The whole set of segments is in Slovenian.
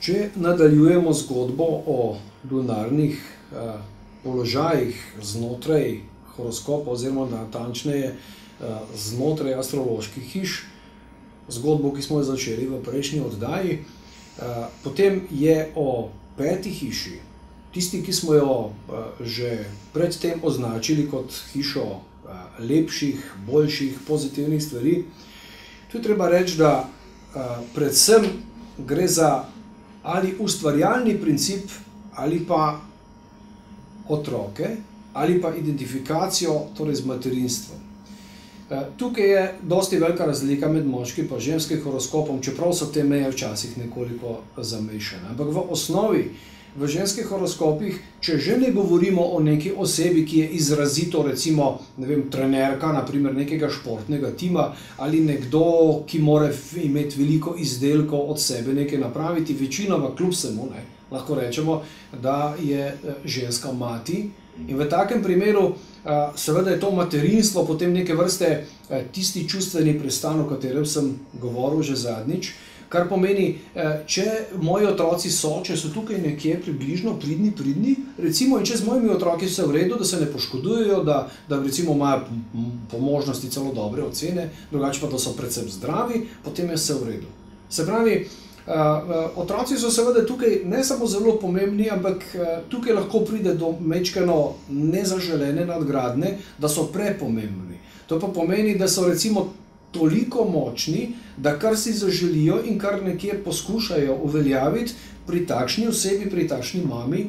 Če nadaljujemo zgodbo o lunarnih položajih znotraj horoskopa oziroma natančneje znotraj astroloških hiš, zgodbo, ki smo jo začeli v prejšnji oddaji, potem je o 5. hiši, tisti, ki smo jo že predtem označili kot hišo lepših, boljših, pozitivnih stvari. Tu je treba reči, da predvsem gre za ali ustvarjalni princip, ali pa otroke, ali pa identifikacijo, torej z materinstvom. Tukaj je dosti velika razlika med moškim in ženskim horoskopom, čeprav so te meje včasih nekoliko zamešane. Ampak v osnovi, v ženskih horoskopih, če že ne govorimo o neki osebi, ki je izrazito, recimo, ne vem, trenerka, naprimer nekega športnega tima, ali nekdo, ki mora imeti veliko izdelkov od sebe nekaj napraviti, večinoma kljub vsemu, lahko rečemo, da je ženska mati. In v takem primeru seveda je to materinstvo potem neke vrste tisti čustveni pristan, o katerem sem govoril že zadnjič, kar pomeni, če moji otroci so, če so tukaj nekje približno pridni, recimo, in če z mojimi otroki vse v redu, da se ne poškodujejo, da recimo imajo po možnosti celo dobre ocene, drugače pa da so predvsem zdravi, potem je vse v redu. Se pravi, otroci so seveda tukaj ne samo zelo pomembni, ampak tukaj lahko pride do majčkeno nezaželene nadgradnje, da so prepomembni. To pa pomeni, da so recimo toliko močni, da kar si zaželijo in kar nekje poskušajo uveljaviti pri takšni osebi, pri takšni mami,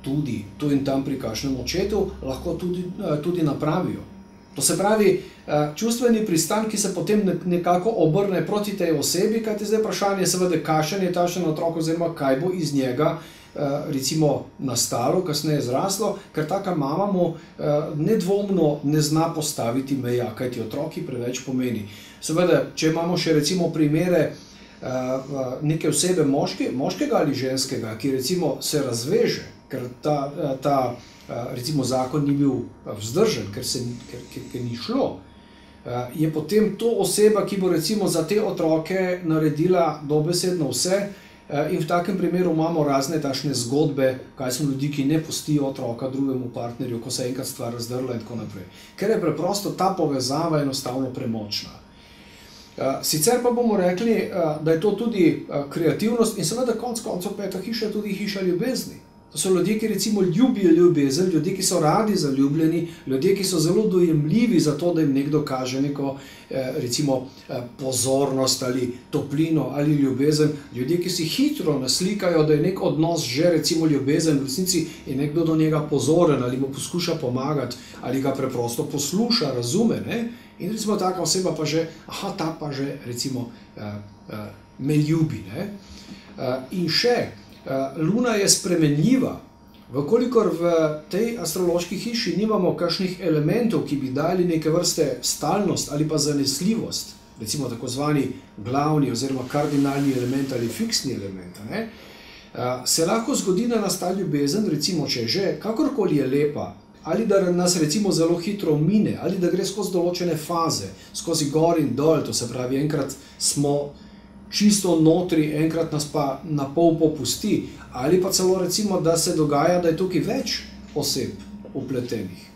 tudi tu in tam pri kakšnem očetu, lahko tudi napravijo. To se pravi, čustveni pristan, ki se potem nekako obrne proti tej osebi, kajti zdaj vprašanje je seveda, kakšen je takšen otrok oziroma kaj bo iz njega recimo nastalo, kasneje zraslo, ker taka mama mu nedvomno ne zna postaviti meja, kajti otroki preveč pomeni. Seveda, če imamo še recimo primere neke osebe moškega ali ženskega, ki recimo se razveže, ker ta recimo zakon ni bil vzdržen, ker ni šlo, je potem to oseba, ki bo recimo za te otroke naredila dobesedno vse. In v takem primeru imamo razne takšne zgodbe, kaj so ljudi, ki ne pustijo otroka drugemu partnerju, ko se je enkrat stvar razdrla in tako naprej. Ker je preprosto ta povezava enostavno premočna. Sicer pa bomo rekli, da je to tudi kreativnost in seveda konec koncev 5. hiša je tudi hiša ljubezni. To so ljudje, ki recimo ljubijo ljubezen, ljudje, ki so radi zaljubljeni, ljudje, ki so zelo dojemljivi za to, da jim nekdo kaže neko recimo pozornost ali toplino ali ljubezen, ljudje, ki si hitro naslikajo, da je nek odnos že recimo ljubezen, v resnici je nekdo do njega pozoren ali mu poskuša pomagati ali ga preprosto posluša, razume, ne? In recimo taka oseba pa že, ta pa že recimo me ljubi, ne? In še, Luna je spremenljiva. Vkolikor v tej astrološki hiši nimamo kakšnih elementov, ki bi dali neke vrste stalnost ali pa zanesljivost, recimo tako zvani glavni oziroma kardinalni element ali fiksni element, se lahko zgodi, da nas ta ljubezen, recimo, če že kakorkoli je lepa, ali da nas recimo zelo hitro mine, ali da gre skozi določene faze, skozi gor in dol, to se pravi, enkrat smo čisto notri, enkrat nas pa na pol popusti, ali pa celo recimo, da se dogaja, da je tukaj več oseb vpletenih.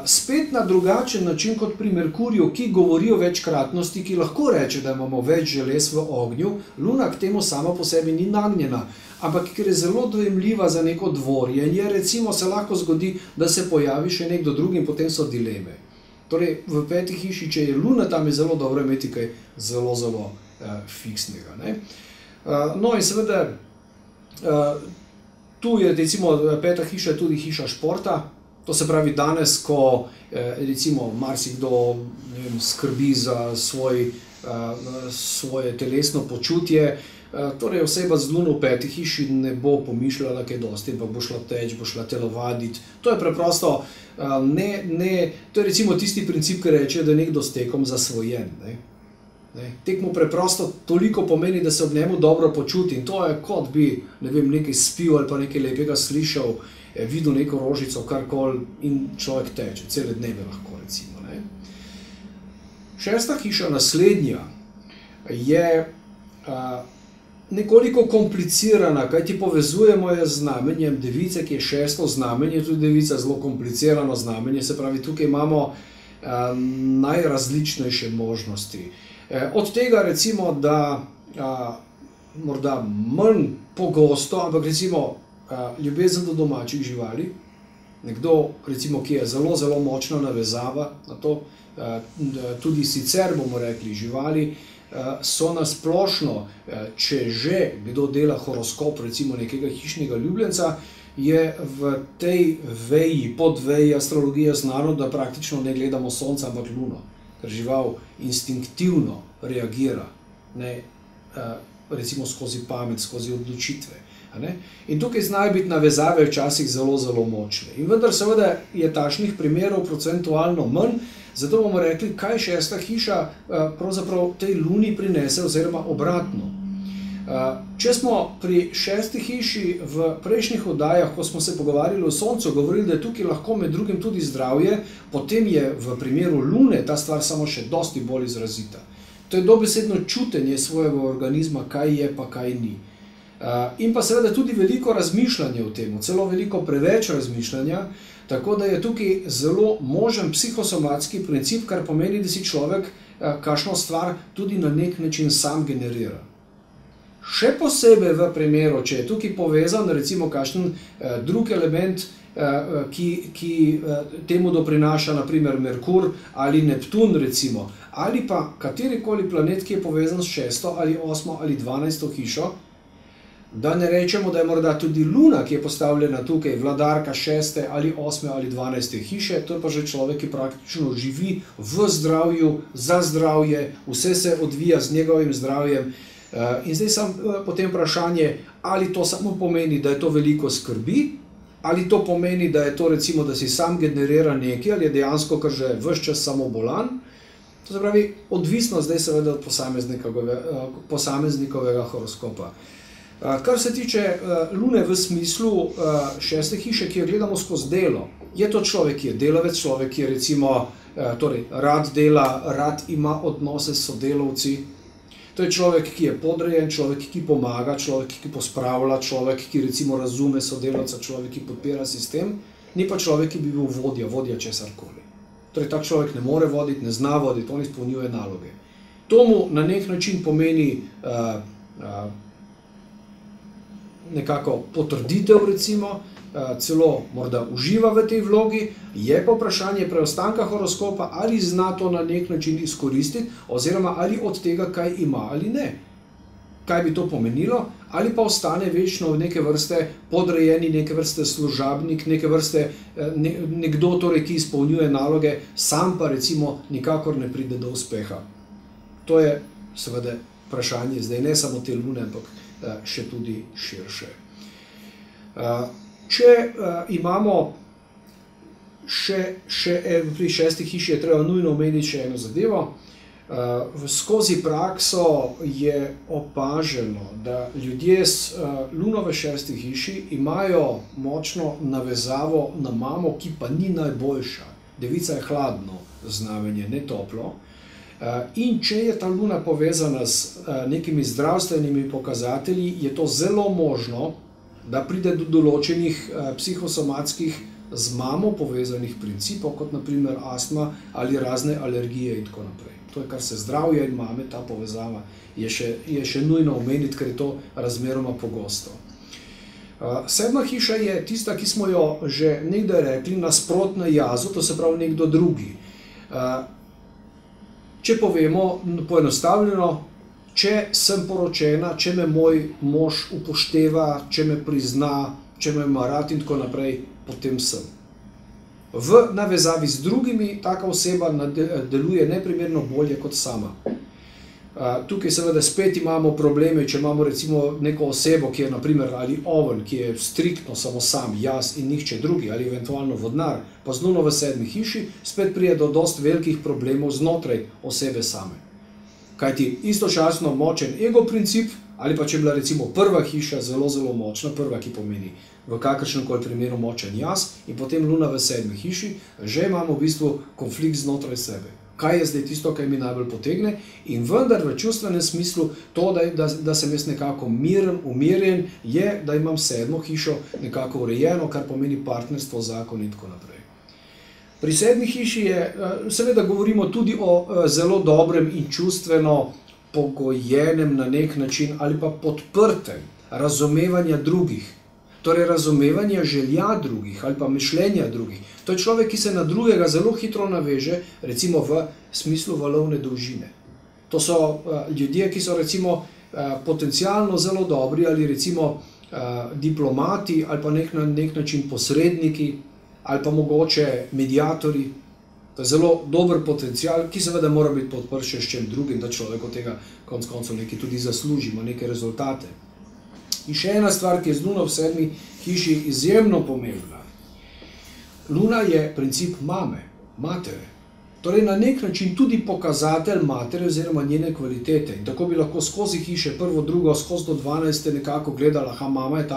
Spet na drugačen način kot pri Merkurju, ki govori o večkratnosti, ki lahko reče, da imamo več želez v ognju, Luna k temu sama po sebi ni nagnjena, ampak ker je zelo dojemljiva za neko dvorjenje, recimo se lahko zgodi, da se pojavi še nekdo drug in potem so dileme. Torej, v 5. hiši, če je Luna, tam je zelo dobro imeti kaj zelo fiksnega. No in seveda, tu je recimo 5. hiša tudi hiša športa, to se pravi danes, ko recimo marsikdo skrbi za svoje telesno počutje, torej oseba z luno v 5. hiši ne bo pomišljala kaj dosti, ampak bo šla teč, bo šla telovaditi. To je preprosto, to je recimo tisti princip, ki reče, da je nekdo s tekom zasvojen. Tek mu preprosto toliko pomeni, da se ob njemu dobro počuti in to je kot bi, ne vem, nekaj spil ali pa nekaj lepega slišal, videl neko rožico, karkoli in človek teče, cele dneve lahko recimo. 6. hiša naslednja je nekoliko komplicirana, kajti povezujemo jo z znamenjem device, ki je 6. znamenje, tudi devica je zelo komplicirano znamenje, se pravi, tukaj imamo najrazličnejše možnosti. Od tega recimo, da morda manj pogosto, ampak recimo ljubezen do domačih živali, nekdo recimo, ki je zelo, zelo močna navezava na to, tudi sicer bomo rekli živali, so nasplošno, če že kdo dela horoskop recimo nekega hišnega ljubljenca, je v tej veji, podveji astrologije znano, da praktično ne gledamo sonca, ampak luno, ker žival instinktivno reagira, recimo skozi pamet, skozi odločitve. In tukaj znajo biti navezave včasih zelo, zelo močne. In vendar seveda je takšnih primerov procentualno manj, zato bomo rekli, kaj 6. hiša pravzaprav tej luni prinese oziroma obratno. Če smo pri 6. hiši v prejšnjih oddajah, ko smo se pogovarjali o soncu, govorili, da je tukaj lahko med drugim tudi zdravje, potem je v primeru lune ta stvar samo še dosti bolj izrazita. To je dobesedno čutenje svojega organizma, kaj je pa kaj ni. In pa seveda tudi veliko razmišljanja o tem, celo veliko preveč razmišljanja, tako da je tukaj zelo možen psihosomatski princip, kar pomeni, da si človek kakšno stvar tudi na nek način sam generira. Še posebej v primeru, če je tukaj povezan recimo kakšen drug element, ki temu doprinaša naprimer Merkur ali Neptun recimo, ali pa katerikoli planet, ki je povezan s 6. ali 8. ali 12. hišo, da ne rečemo, da je morda tudi Luna, ki je postavljena tukaj, vladarka 6. ali 8. ali 12. hiše, to je pa že človek, ki praktično živi v zdravju, za zdravje, vse se odvija z njegovim zdravjem. In zdaj sam potem vprašanje, ali to samo pomeni, da je to veliko skrbi, ali to pomeni, da je to recimo, da si sam generira nekaj, ali je dejansko, ker že ves čas samo bolan. To se pravi, odvisno zdaj seveda od posameznikovega horoskopa. Kar se tiče Lune v smislu 6. hiše, ki jo gledamo skozi delo, je to človek, ki je delavec, človek, ki je recimo, torej, rad dela, rad ima odnose s sodelavci. To je človek, ki je podrejen, človek, ki pomaga, človek, ki pospravlja, človek, ki recimo razume sodelavca, človek, ki podpira sistem, ni pa človek, ki bi bil vodja česarkoli. Torej, tak človek ne more voditi, ne zna voditi, on izpolnjuje naloge. To mu na nek način pomeni nekako potrditev recimo, celo morda uživa v tej vlogi, je pa vprašanje preostanka horoskopa, ali zna to na nek način izkoristiti, oziroma ali od tega kaj ima ali ne. Kaj bi to pomenilo? Ali pa ostane večno neke vrste podrejeni, neke vrste služabnik, neke vrste nekdo, torej, ki izpolnjuje naloge, sam pa recimo nikakor ne pride do uspeha. To je seveda vprašanje zdaj ne samo te Lune, ampak še tudi širše. Če imamo pri 6. hiši, je treba nujno omeniti še eno zadevo. Skozi prakso je opaženo, da ljudje s Luno v 6. hiši imajo močno navezavo na mamo, ki pa ni najboljša. Devica je hladno znamenje, ne toplo. In če je ta Luna povezana s nekimi zdravstvenimi pokazatelji, je to zelo možno, da pride do določenih psihosomatskih z mamo povezanih principov, kot naprimer astma ali razne alergije in tako naprej. To je, kar se zdravja in mame, ta povezava je še nujno omeniti, ker je to razmeroma pogosto. 7. hiša je tista, ki smo jo že nekdaj rekli, nasprotna jazu, to se pravi nekdo drugi. Če povemo poenostavljeno, če sem poročena, če me moj mož upošteva, če me prizna, če me ima rad in tako naprej, potem sem. V navezavi z drugimi taka oseba deluje neprimerno bolje kot sama. Tukaj seveda spet imamo probleme, če imamo recimo neko osebo, ki je naprimer ali oven, ki je striktno samo sam, jaz in nihče drugi, ali eventualno vodnar, pa z luno v 7. hiši, spet pride do dosti velikih problemov znotraj osebe same. Kajti istočasno močen ego princip, ali pa če je bila recimo prva hiša zelo, zelo močna, prva, ki pomeni v kakršnemkoli primeru močen jaz, in potem luna v 7. hiši, že imamo v bistvu konflikt znotraj sebe. Kaj je zdaj tisto, kaj mi najbolj potegne, in vendar v čustvenem smislu to, da sem jaz nekako miren, umirjen, je, da imam 7. hišo nekako urejeno, kar pomeni partnerstvo, zakon in tako naprej. Pri 7. hiši je, seveda govorimo tudi o zelo dobrem in čustveno pogojenem na nek način ali pa podprtem razumevanja drugih. Torej razumevanja želja drugih ali pa mišljenja drugih. To je človek, ki se na drugega zelo hitro naveže, recimo v smislu valovne dolžine. To so ljudje, ki so recimo potencialno zelo dobri ali recimo diplomati ali pa na nek način posredniki ali pa mogoče mediatorji. To je zelo dober potencial, ki seveda mora biti podprt še s čem drugim, da človek od tega konec koncev nekaj tudi zaslužimo, neke rezultate. In še ena stvar, ki je z luno v 7. hiši izjemno pomembna. Luna je princip mame, matere. Torej na nek način tudi pokazatelj matere oziroma njene kvalitete. In tako bi lahko skozi hiše, prvo, drugo, skozi do 12. nekako gledala, mama je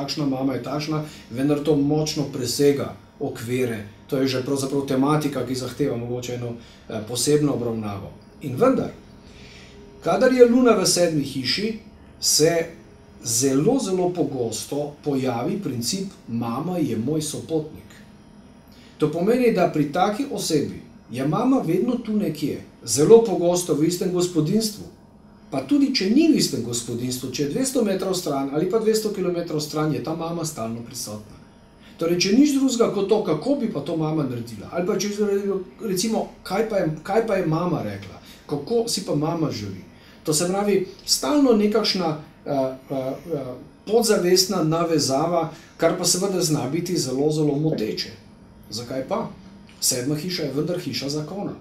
takšna, vendar to močno presega okvire. To je že pravzaprav tematika, ki zahteva mogoče eno posebno obravnavo. In vendar, kadar je luna v 7. hiši, se zelo, zelo pogosto pojavi princip mama je moj sopotnik. To pomeni, da pri taki osebi je mama vedno tu nekje, zelo pogosto v istem gospodinjstvu, pa tudi če ni v istem gospodinjstvu, če je 200 metrov stran ali pa 200 kilometrov stran, je ta mama stalno prisotna. Torej, če nič drugega kot to, kako bi pa to mama naredila, ali pa če recimo, kaj pa je mama rekla, kako si pa mama želi. To se pravi, stalno nekakšna podzavestna navezava, kar pa seveda zna biti zelo, zelo moteče. Zakaj pa? 7. hiša je vendar hiša zakona.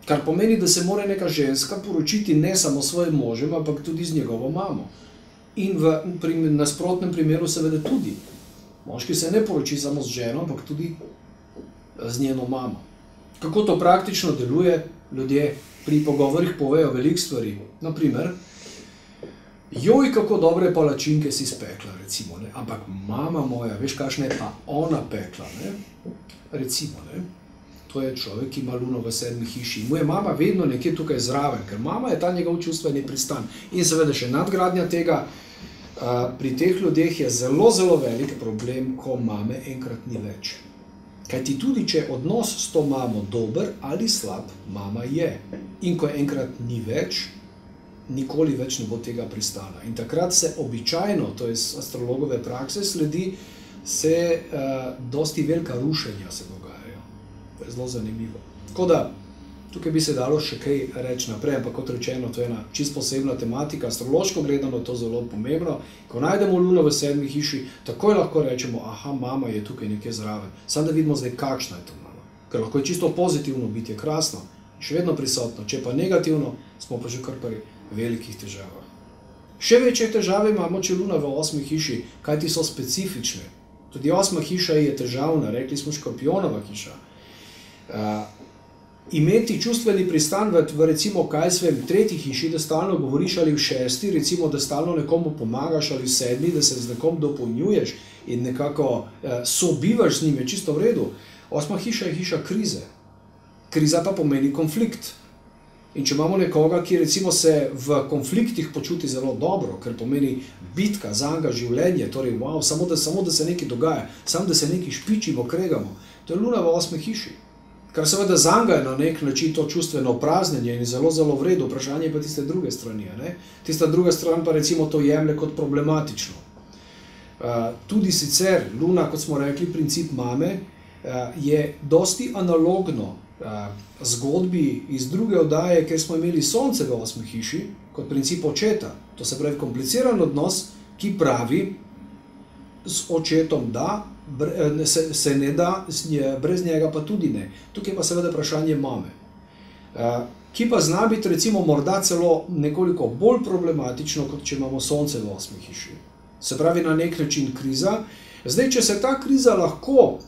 Kar pomeni, da se mora neka ženska poročiti ne samo s svojim možem, ampak tudi z njegovo mamo. In v nasprotnem primeru seveda tudi. Moški se ne poroči samo z ženo, ampak tudi z njeno mamo. Kako to praktično deluje, ljudje pri pogovorih povejo veliko stvari. Naprimer, joj, kako dobre palačinke si spekla, recimo, ne? Ampak mama moja, veš, kakšna je pa ona pekla, ne? Recimo, ne? To je človek, ki ima luno v 7. hiši. Mu je mama vedno nekje tukaj zraven, ker mama je ta njegov čustveni pristan. In seveda še nadgradnja tega, pri teh ljudeh je zelo, zelo velik problem, ko mame enkrat ni več. Kajti tudi, če odnos s to mamo dober ali slab, mama je. In ko enkrat ni več, nikoli več ne bo tega pristana. In takrat se običajno, to je iz astrologove prakse, sledi se dosti velika rušenja se dogajajo. To je zelo zanimivo. Tako da, tukaj bi se dalo še kaj reči naprej, ampak kot rečeno, to je ena čisto posebna tematika, astrološko gledano je to zelo pomembno. Ko najdemo luno v 7. hiši, takoj lahko rečemo, aha, mama je tukaj nekje zraven. Samo da vidimo zdaj, kakšna je to mama. Ker lahko je čisto pozitivno biti, je krasno, še vedno prisotno. Če pa negativno, smo pa že kar pri velikih težavah. Še večje težave imamo, če luna v 8. hiši, kajti so specifične. Tudi 8. hiša je težavna, rekli smo škorpionova hiša. Imeti čustveni pristan v recimo, kaj svem, 3. hiši, da stalno govoriš, ali v 6., recimo, da stalno nekomu pomagaš, ali v 7., da se z nekom dopolnjuješ in nekako sobivaš z njim, je čisto v redu. 8. hiša je hiša krize. Kriza pa pomeni konflikt. In če imamo nekoga, ki recimo se v konfliktih počuti zelo dobro, ker pomeni bitka, zanga, življenje, torej wow, samo da se nekaj dogaja, samo da se nekaj špičimo, kregamo, to je luna v 8. hiši. Kar seveda zanga je na nek način to čustveno praznjenje in zelo, zelo v redu, vprašanje je pa tiste druge strani. Ne? Tista druga stran pa recimo to jemlje kot problematično. Tudi sicer luna, kot smo rekli, princip mame, je dosti analogno zgodbi iz druge oddaje, ker smo imeli sonce v 8. hiši, kot princip očeta. To se pravi kompliciran odnos, ki pravi s očetom da, se ne da, brez njega pa tudi ne. Tukaj pa seveda vprašanje mame. ki pa zna biti recimo morda celo nekoliko bolj problematično, kot če imamo sonce v 8. hiši. Se pravi na nek način kriza. Zdaj, če se ta kriza lahko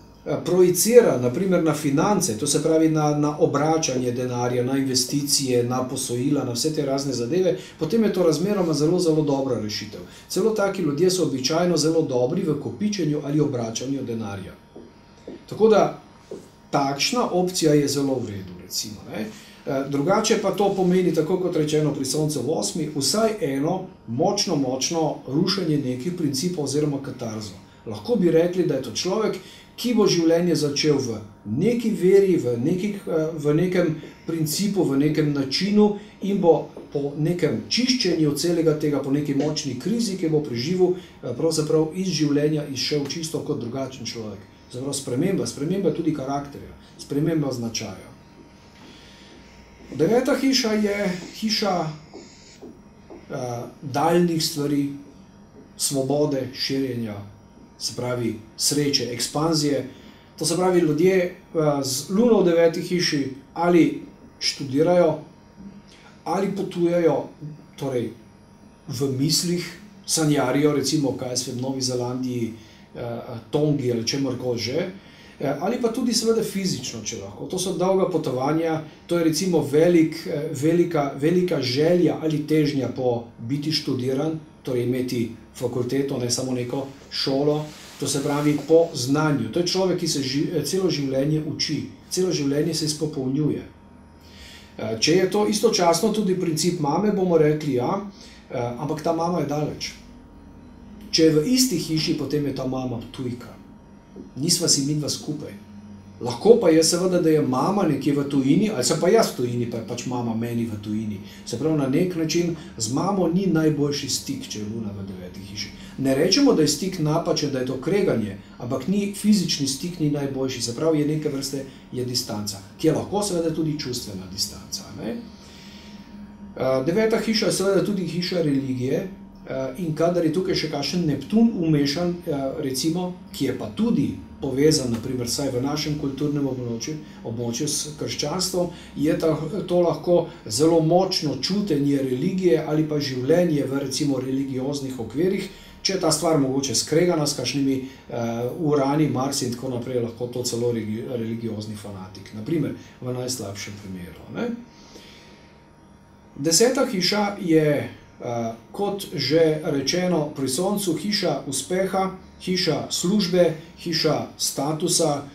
projicira naprimer na finance, to se pravi na obračanje denarja, na investicije, na posojila, na vse te razne zadeve, potem je to razmeroma zelo, zelo dobra rešitev. Celo taki ljudje so običajno zelo dobri v kopičenju ali obračanju denarja. Tako da takšna opcija je zelo v redu, recimo. Drugače pa to pomeni, tako kot rečeno pri soncu v 8, vsaj eno močno rušenje nekih principov oziroma katarzo. Lahko bi rekli, da je to človek, ki bo življenje začel v neki veri, v nekem principu, v nekem načinu in bo po nekem čiščenju celega tega, po neki močni krizi, ki bo preživel, pravzaprav iz življenja izšel čisto kot drugačen človek. Zapravo sprememba tudi karakterja, sprememba značaja. 9. hiša je hiša daljnih stvari, svobode, širjenja, se pravi sreče, ekspanzije. To se pravi, ljudje z luno v 9. hiši ali študirajo, ali potujejo, torej v mislih, sanjarijo, recimo, kaj v Novi Zelandiji, Tongi ali čemorkoli že, ali pa tudi seveda fizično, če lahko. To so dolga potovanja, to je recimo velika želja ali težnja po biti študiran, torej imeti fakulteto, ne samo neko šolo, to se pravi po znanju. To je človek, ki se celo življenje uči, celo življenje se izpopolnjuje. Če je to istočasno tudi princip mame, bomo rekli ja, ampak ta mama je daleč. Če je v isti hiši, potem je ta mama tujka. Nisva si midva skupaj. Lahko pa je seveda, da je mama nekje v tujini, ali sem pa jaz v tujini, pa je pač mama meni v tujini. Se pravi, na nek način z mamo ni najboljši stik, če je luna v 9. hiši. Ne rečemo, da je stik napačen, da je to kreganje, ampak fizični stik ni najboljši. Se pravi, je neke vrste distanca, ki je lahko seveda tudi čustvena distanca. 9. hiša je seveda tudi hiša religije, in kadar je tukaj še kakšen Neptun umešan, recimo, ki je pa tudi povezan, naprimer, saj v našem kulturnem območju s krščanstvom, je to lahko zelo močno čutenje religije ali pa življenje v recimo religioznih okvirih. Če je ta stvar mogoče skregana s kakšnimi Urani, Marsi in tako naprej, lahko to celo religiozni fanatik, naprimer v najslabšem primeru. 10. hiša je, kot že rečeno, pri soncu hiša uspeha, hiša službe, hiša statusa,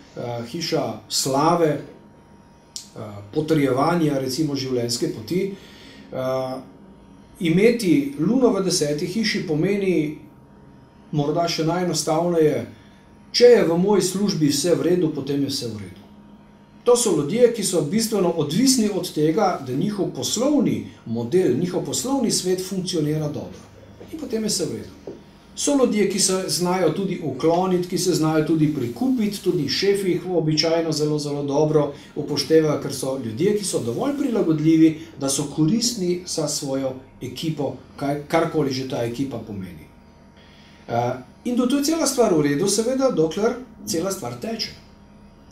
hiša slave, potrjevanja recimo življenjske poti. Imeti luno v 10. hiši pomeni morda še najenostavneje, če je v moji službi vse v redu, potem je vse v redu. To so ljudje, ki so bistveno odvisni od tega, da njihov poslovni model, njihov poslovni svet funkcionira dobro. In potem je vse v redu. So ljudje, ki se znajo tudi ukloniti, ki se znajo tudi prikupiti, tudi šefi jih običajno zelo, zelo dobro upoštevajo, ker so ljudje, ki so dovolj prilagodljivi, da so koristni za svojo ekipo, karkoli že ta ekipa pomeni. In to je cela stvar v redu, seveda, dokler cela stvar teče.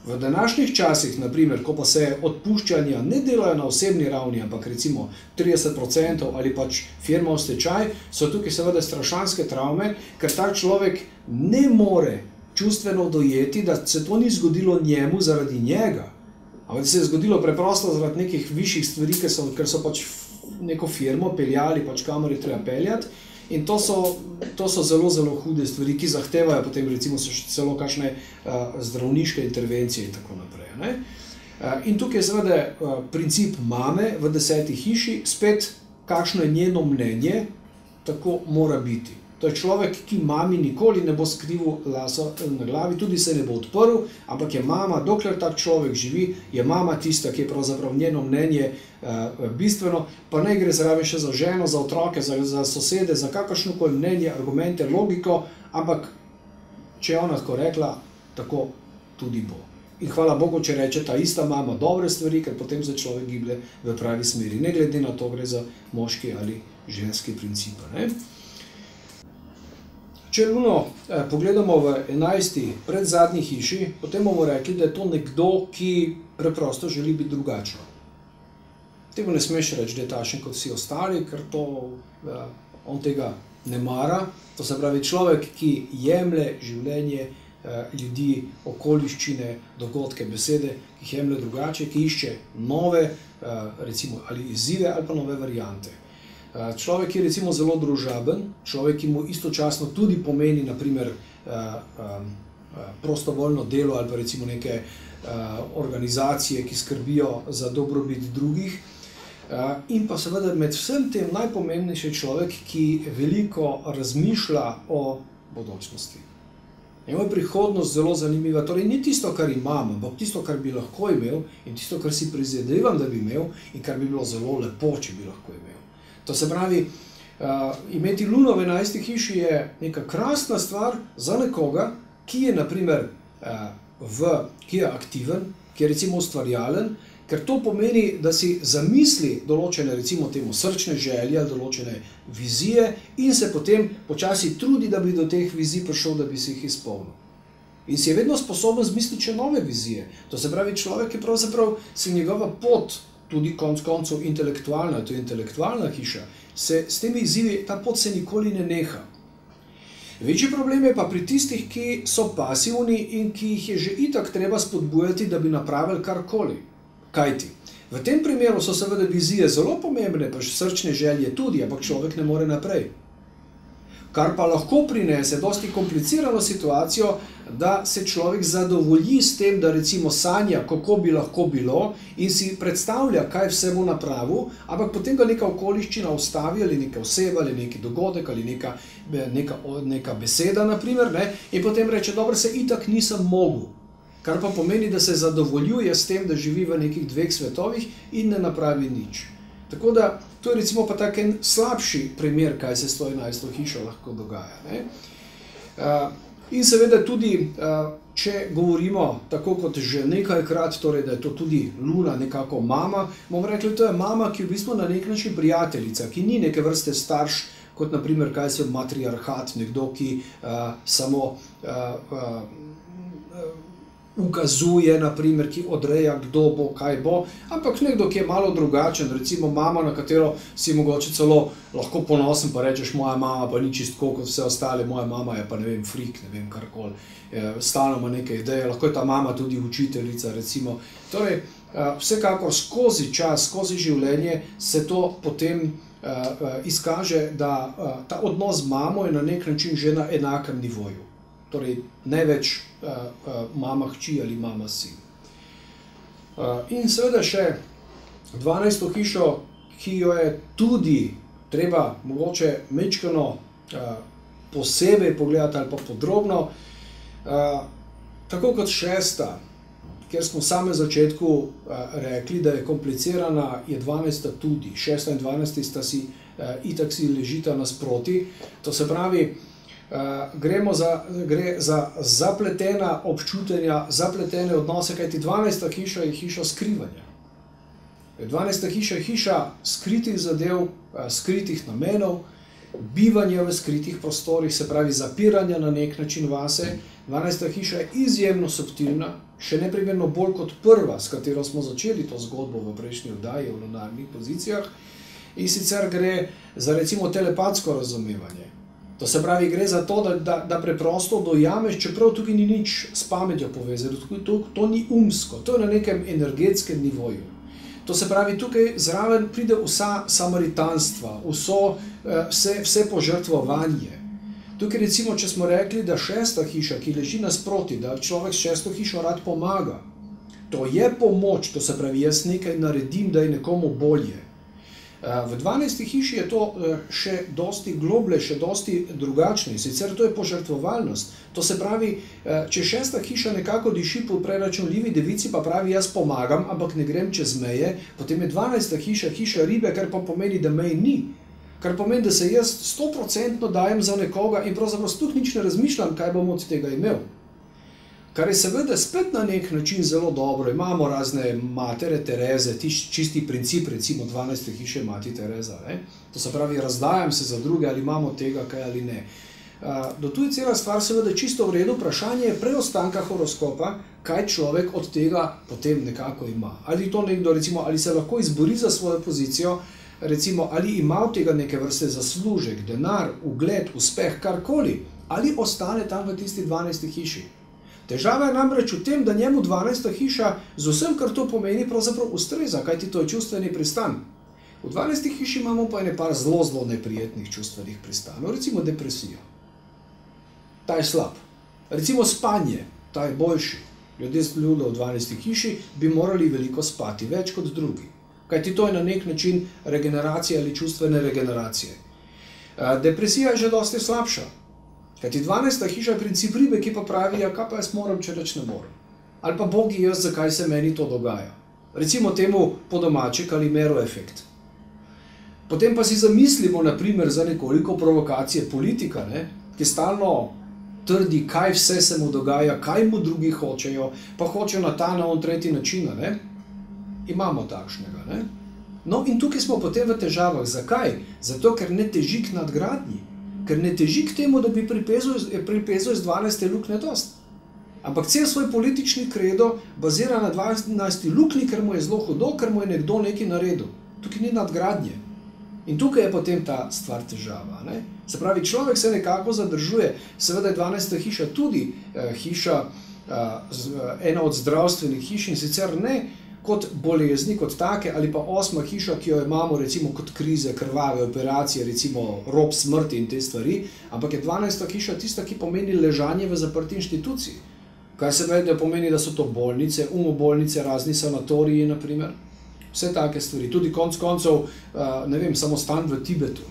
V današnjih časih, naprimer, ko pa se odpuščanja ne delajo na osebni ravni, ampak recimo 30% ali pač firma v stečaj, so tukaj seveda strašanske travme, ker ta človek ne more čustveno dojeti, da se to ni zgodilo njemu zaradi njega, ampak da se je zgodilo preprosto zaradi nekih višjih stvari, ker so pač neko firmo peljali, pač kamor je treba peljati. In to so zelo, zelo hude stvari, ki zahtevajo potem recimo celo kakšne zdravniške intervencije in tako naprej. In tukaj je seveda princip mame v 10. hiši, spet kakšno je njeno mnenje, tako mora biti. To je človek, ki mami nikoli ne bo skrival lasa na glavi, tudi se ne bo odprl, ampak je mama, dokler tak človek živi, je mama tista, ki je pravzaprav njeno mnenje bistveno, pa ne gre zraven še za ženo, za otroke, za sosede, za kakršnokoli mnenje, argumente, logiko, ampak če je ona tako rekla, tako tudi bo. In hvala Bogu, če reče ta ista mama dobre stvari, ker potem se človek giblje v pravi smeri. Ne glede na to, gre za moški ali ženski princip. Če luno pogledamo v 11. predzadnji hiši, potem bomo rekli, da je to nekdo, ki preprosto želi biti drugačen. temu ne smeš reči, da je takšen kot vsi ostali, ker on tega ne mara. To se pravi človek, ki jemlje življenje ljudi, okoliščine, dogodke, besede, ki jih jemlje drugače, ki išče nove, recimo, ali izzive ali pa nove variante. Človek, ki je recimo zelo družaben, človek, ki mu istočasno tudi pomeni, naprimer, prostovoljno delo ali pa recimo neke organizacije, ki skrbijo za dobrobit drugih. In pa seveda med vsem tem najpomembnejši človek, ki veliko razmišlja o bodočnosti. Njemu je prihodnost zelo zanimiva, torej ni tisto, kar imam, ampak tisto, kar bi lahko imel in tisto, kar si prizadevam, da bi imel in kar bi bilo zelo lepo, če bi lahko imel. To se pravi, imeti luno v 11. hiši je neka krasna stvar za nekoga, ki je, naprimer, ki je aktiven, ki je recimo ustvarjalen, ker to pomeni, da si zamisli določene, recimo temu srčne želje, določene vizije in se potem počasi trudi, da bi do teh vizij prišel, da bi si jih izpolnil. In si je vedno sposoben zmisliti še nove vizije. To se pravi, človek je pravzaprav se njegova pot, tudi konec koncev intelektualna, to je intelektualna hiša, se s temi izzivi, ta pot se nikoli ne neha. Večji problem je pa pri tistih, ki so pasivni in ki jih je že itak treba spodbujati, da bi napravili karkoli. Kajti, v tem primeru so seveda vizije zelo pomembne, pa srčne želje tudi, ampak človek ne more naprej. Kar pa lahko prinese dosti komplicirano situacijo, da se človek zadovolji s tem, da recimo sanja, kako bi lahko bilo in si predstavlja, kaj vse bo napravil, ampak potem ga neka okoliščina ustavi ali neka oseba ali neki dogodek ali neka beseda, naprimer, in potem reče, dobro, se itak nisem mogel. Kar pa pomeni, da se zadovoljuje s tem, da živi v nekih dveh svetovih in ne napravi nič. Tako da, to je recimo pa tak en slabši primer, kaj se s to 11. hišo lahko dogaja. In seveda tudi, če govorimo tako kot že nekajkrat, torej da je to tudi luna nekako mama, bomo rekli, to je mama, ki je v bistvu na nek način prijateljica, ki ni neke vrste starš, kot naprimer, kaj se matriarhat, nekdo, ki samo ukazuje, naprimer, ki odreja, kdo bo, kaj bo, ampak nekdo, ki je malo drugačen, recimo mama, na katero si mogoče celo lahko ponosen, pa rečeš, moja mama pa ni čistko kot vse ostale, moja mama je pa, ne vem, frik, ne vem, karkoli, stalno ima neke ideje, lahko je ta mama tudi učiteljica, recimo. Torej, vsekakor skozi čas, skozi življenje se to potem izkaže, da ta odnos z mamo je na nek način že na enakem nivoju. Torej, ne več mama hči ali mama sin. In seveda še 12. hišo, ki jo je tudi treba mogoče majčkeno posebej pogledati ali pa podrobno, tako kot 6., kjer smo v samem začetku rekli, da je komplicirana, je 12. tudi. 6. in 12. sta si itak si ležita nasproti. To se pravi, gre za zapletena občutenja, zapletene odnose, kajti 12. hiša je hiša skrivanja. 12. hiša je hiša skritih zadev, skritih namenov, bivanja v skritih prostorih, se pravi zapiranja na nek način vase. 12. hiša je izjemno subtilna, še neprimerno bolj kot prva, s katero smo začeli to zgodbo v prejšnji oddaji o lunarnih pozicijah, in sicer gre za recimo telepatsko razumevanje. To se pravi, gre za to, da preprosto dojameš, čeprav tukaj ni nič s pametjo povezano, to ni umsko, to je na nekem energetskem nivoju. To se pravi, tukaj zraven pride vsa samaritanstva, vse požrtvovanje. Tukaj recimo, če smo rekli, da 6. hiša, ki leži nasproti, da človek s 6. hišo rad pomaga, to je pomoč, to se pravi, jaz nekaj naredim, da je nekomu bolje. V 12. hiši je to še dosti globlje, še dosti drugačne, sicer to je požrtvovalnost. To se pravi, če 6. hiša nekako diši po preračunljivi devici, pa pravi, jaz pomagam, ampak ne grem čez meje, potem je 12. hiša hiša ribe, kar pa pomeni, da mej ni. Kar pomeni, da se jaz 100% dajem za nekoga in pravzaprav sploh nič ne razmišljam, kaj bom od tega imel. Kar je seveda spet na nek način zelo dobro. Imamo razne matere Tereze, čisti princip, recimo 12. hiše mati Tereza. To se pravi, razdajam se za druge, ali imamo tega kaj ali ne. do tu je cela stvar seveda čisto v redu, vprašanje je preostanka horoskopa, kaj človek od tega potem nekako ima. Ali to nekdo, recimo, ali se lahko izbori za svojo pozicijo, recimo, ali ima od tega neke vrste zaslužek, denar, ugled, uspeh, karkoli, ali ostane tam v tisti 12. hiši. Težava je namreč v tem, da njemu 12. hiša z vsem, kar to pomeni, pravzaprav ustreza, kajti to je čustveni pristan. V 12. hiši imamo pa par zelo neprijetnih čustvenih pristanov, recimo depresija. Ta je slab. Recimo spanje, ta je boljši. Ljudje v 12. hiši bi morali veliko spati, več kot drugi. Kajti to je na nek način regeneracija ali čustvene regeneracije. Depresija je že dosti slabša. Kajti 12. hiša je princip ribe, ki pa pravi, ja, kaj pa jaz moram, če reč ne morem. Ali pa bogi jaz, zakaj se meni to dogaja. Recimo temu po domače Calimero efekt. Potem pa si zamislimo, naprimer, za nekoliko provokacije politika, ki stalno trdi, kaj vse se mu dogaja, kaj mu drugi hočejo, pa hočejo na ta na on tretji način, Imamo takšnega, No in tukaj smo potem v težavah. Zakaj? Zato, ker ne teži k nadgradnji. Ker ne teži k temu, da bi pripezal iz 12. luknje dost. Ampak cel svoj politični kredo bazira na 12. luknji, ker mu je zelo hudo, ker mu je nekdo nekaj naredil. Tukaj ni nadgradnje. In tukaj je potem ta stvar težava. Se pravi, človek se nekako zadržuje. Seveda je 12. hiša tudi hiša, ena od zdravstvenih hiš, in sicer ne kot bolezni, kot take, ali pa 8. hiša, ki jo imamo recimo kot krize, krvave operacije, recimo rob smrti in te stvari, ampak je 12. hiša tista, ki pomeni ležanje v zaprti inštituciji. Kar se pomeni, da so to bolnice, umobolnice, razni sanatoriji, naprimer. Vse take stvari. Tudi konc koncev, ne vem, samostan v Tibetu,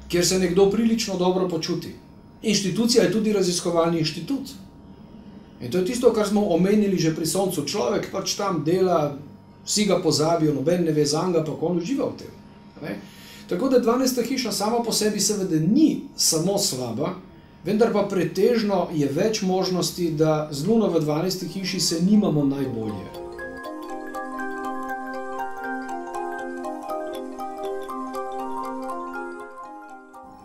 kjer se nekdo prilično dobro počuti. Inštitucija je tudi raziskovalni inštitut. In to je tisto, kar smo omenili že pri Soncu. Človek pač tam dela, vsi ga pozabijo, noben ne ve zanga, pa on uživa v tem. Tako da 12. hiša sama po sebi seveda ni samo slaba, vendar pa pretežno je več možnosti, da z Luno v 12. hiši se nimamo najbolje.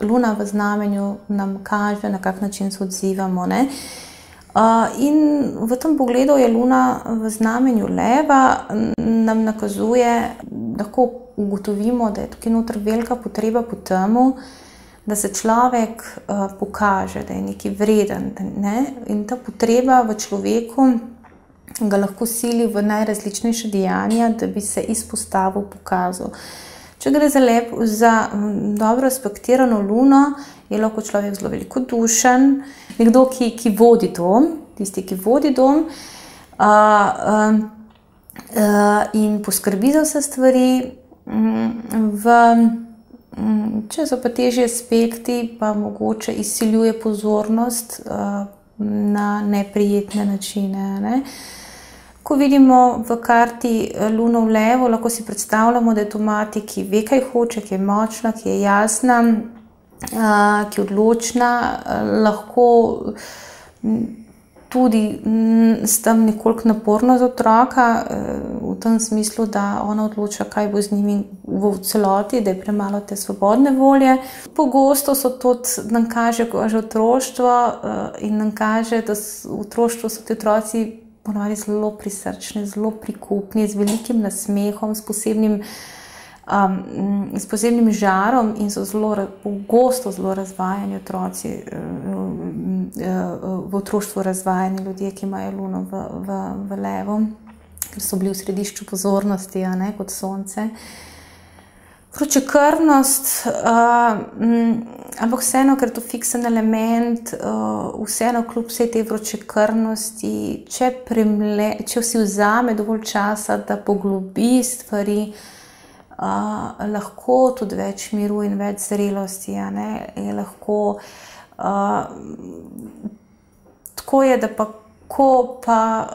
Luna v znamenju nam kaže, na kak način se odzivamo. In v tem pogledu je Luna v znamenju Leva nam nakazuje, lahko ugotovimo, da je tukaj noter velika potreba po temu, da se človek pokaže, da je nekaj vreden. In ta potreba v človeku ga lahko sili v najrazličnejše dejanja, da bi se izpostavil, pokazal. Če gre za dobro aspektirano Luno, je lahko človek zelo velikodušen, nekdo, ki vodi dom, tisti, ki vodi dom in poskrbi za vse stvari. Če so pa težji aspekti, pa mogoče izsiljuje pozornost na neprijetne načine. Ko vidimo v karti Luno v Levu, lahko si predstavljamo, da je to mati, ki ve, kaj hoče, ki je močna, ki je jasna, ki je odločna, lahko tudi s tem nekoliko naporno za otroka, v tem smislu, da ona odloča, kaj bo z njimi v celoti, da je premalo te svobodne volje. Pogosto so tudi, nam kaže že otroštvo in nam kaže, da v otroštvu so ti otroci ponovadi zelo prisrčni, zelo prikupni, z velikim nasmehom, s posebnim žarom in so pogosto zelo razvajeni otroci, v otroštvu razvajeni ljudje, ki imajo Luno v Levu, ker so bili v središču pozornosti, kot sonce. Vročekrvnost, ampak vseeno, ker je to fiksen element, vseeno kljub vsej tej vročekrvnosti, če si vzame dovolj časa, da poglobi stvari, lahko tudi več miru in več zrelosti, je lahko. Tako je, da pa ko pa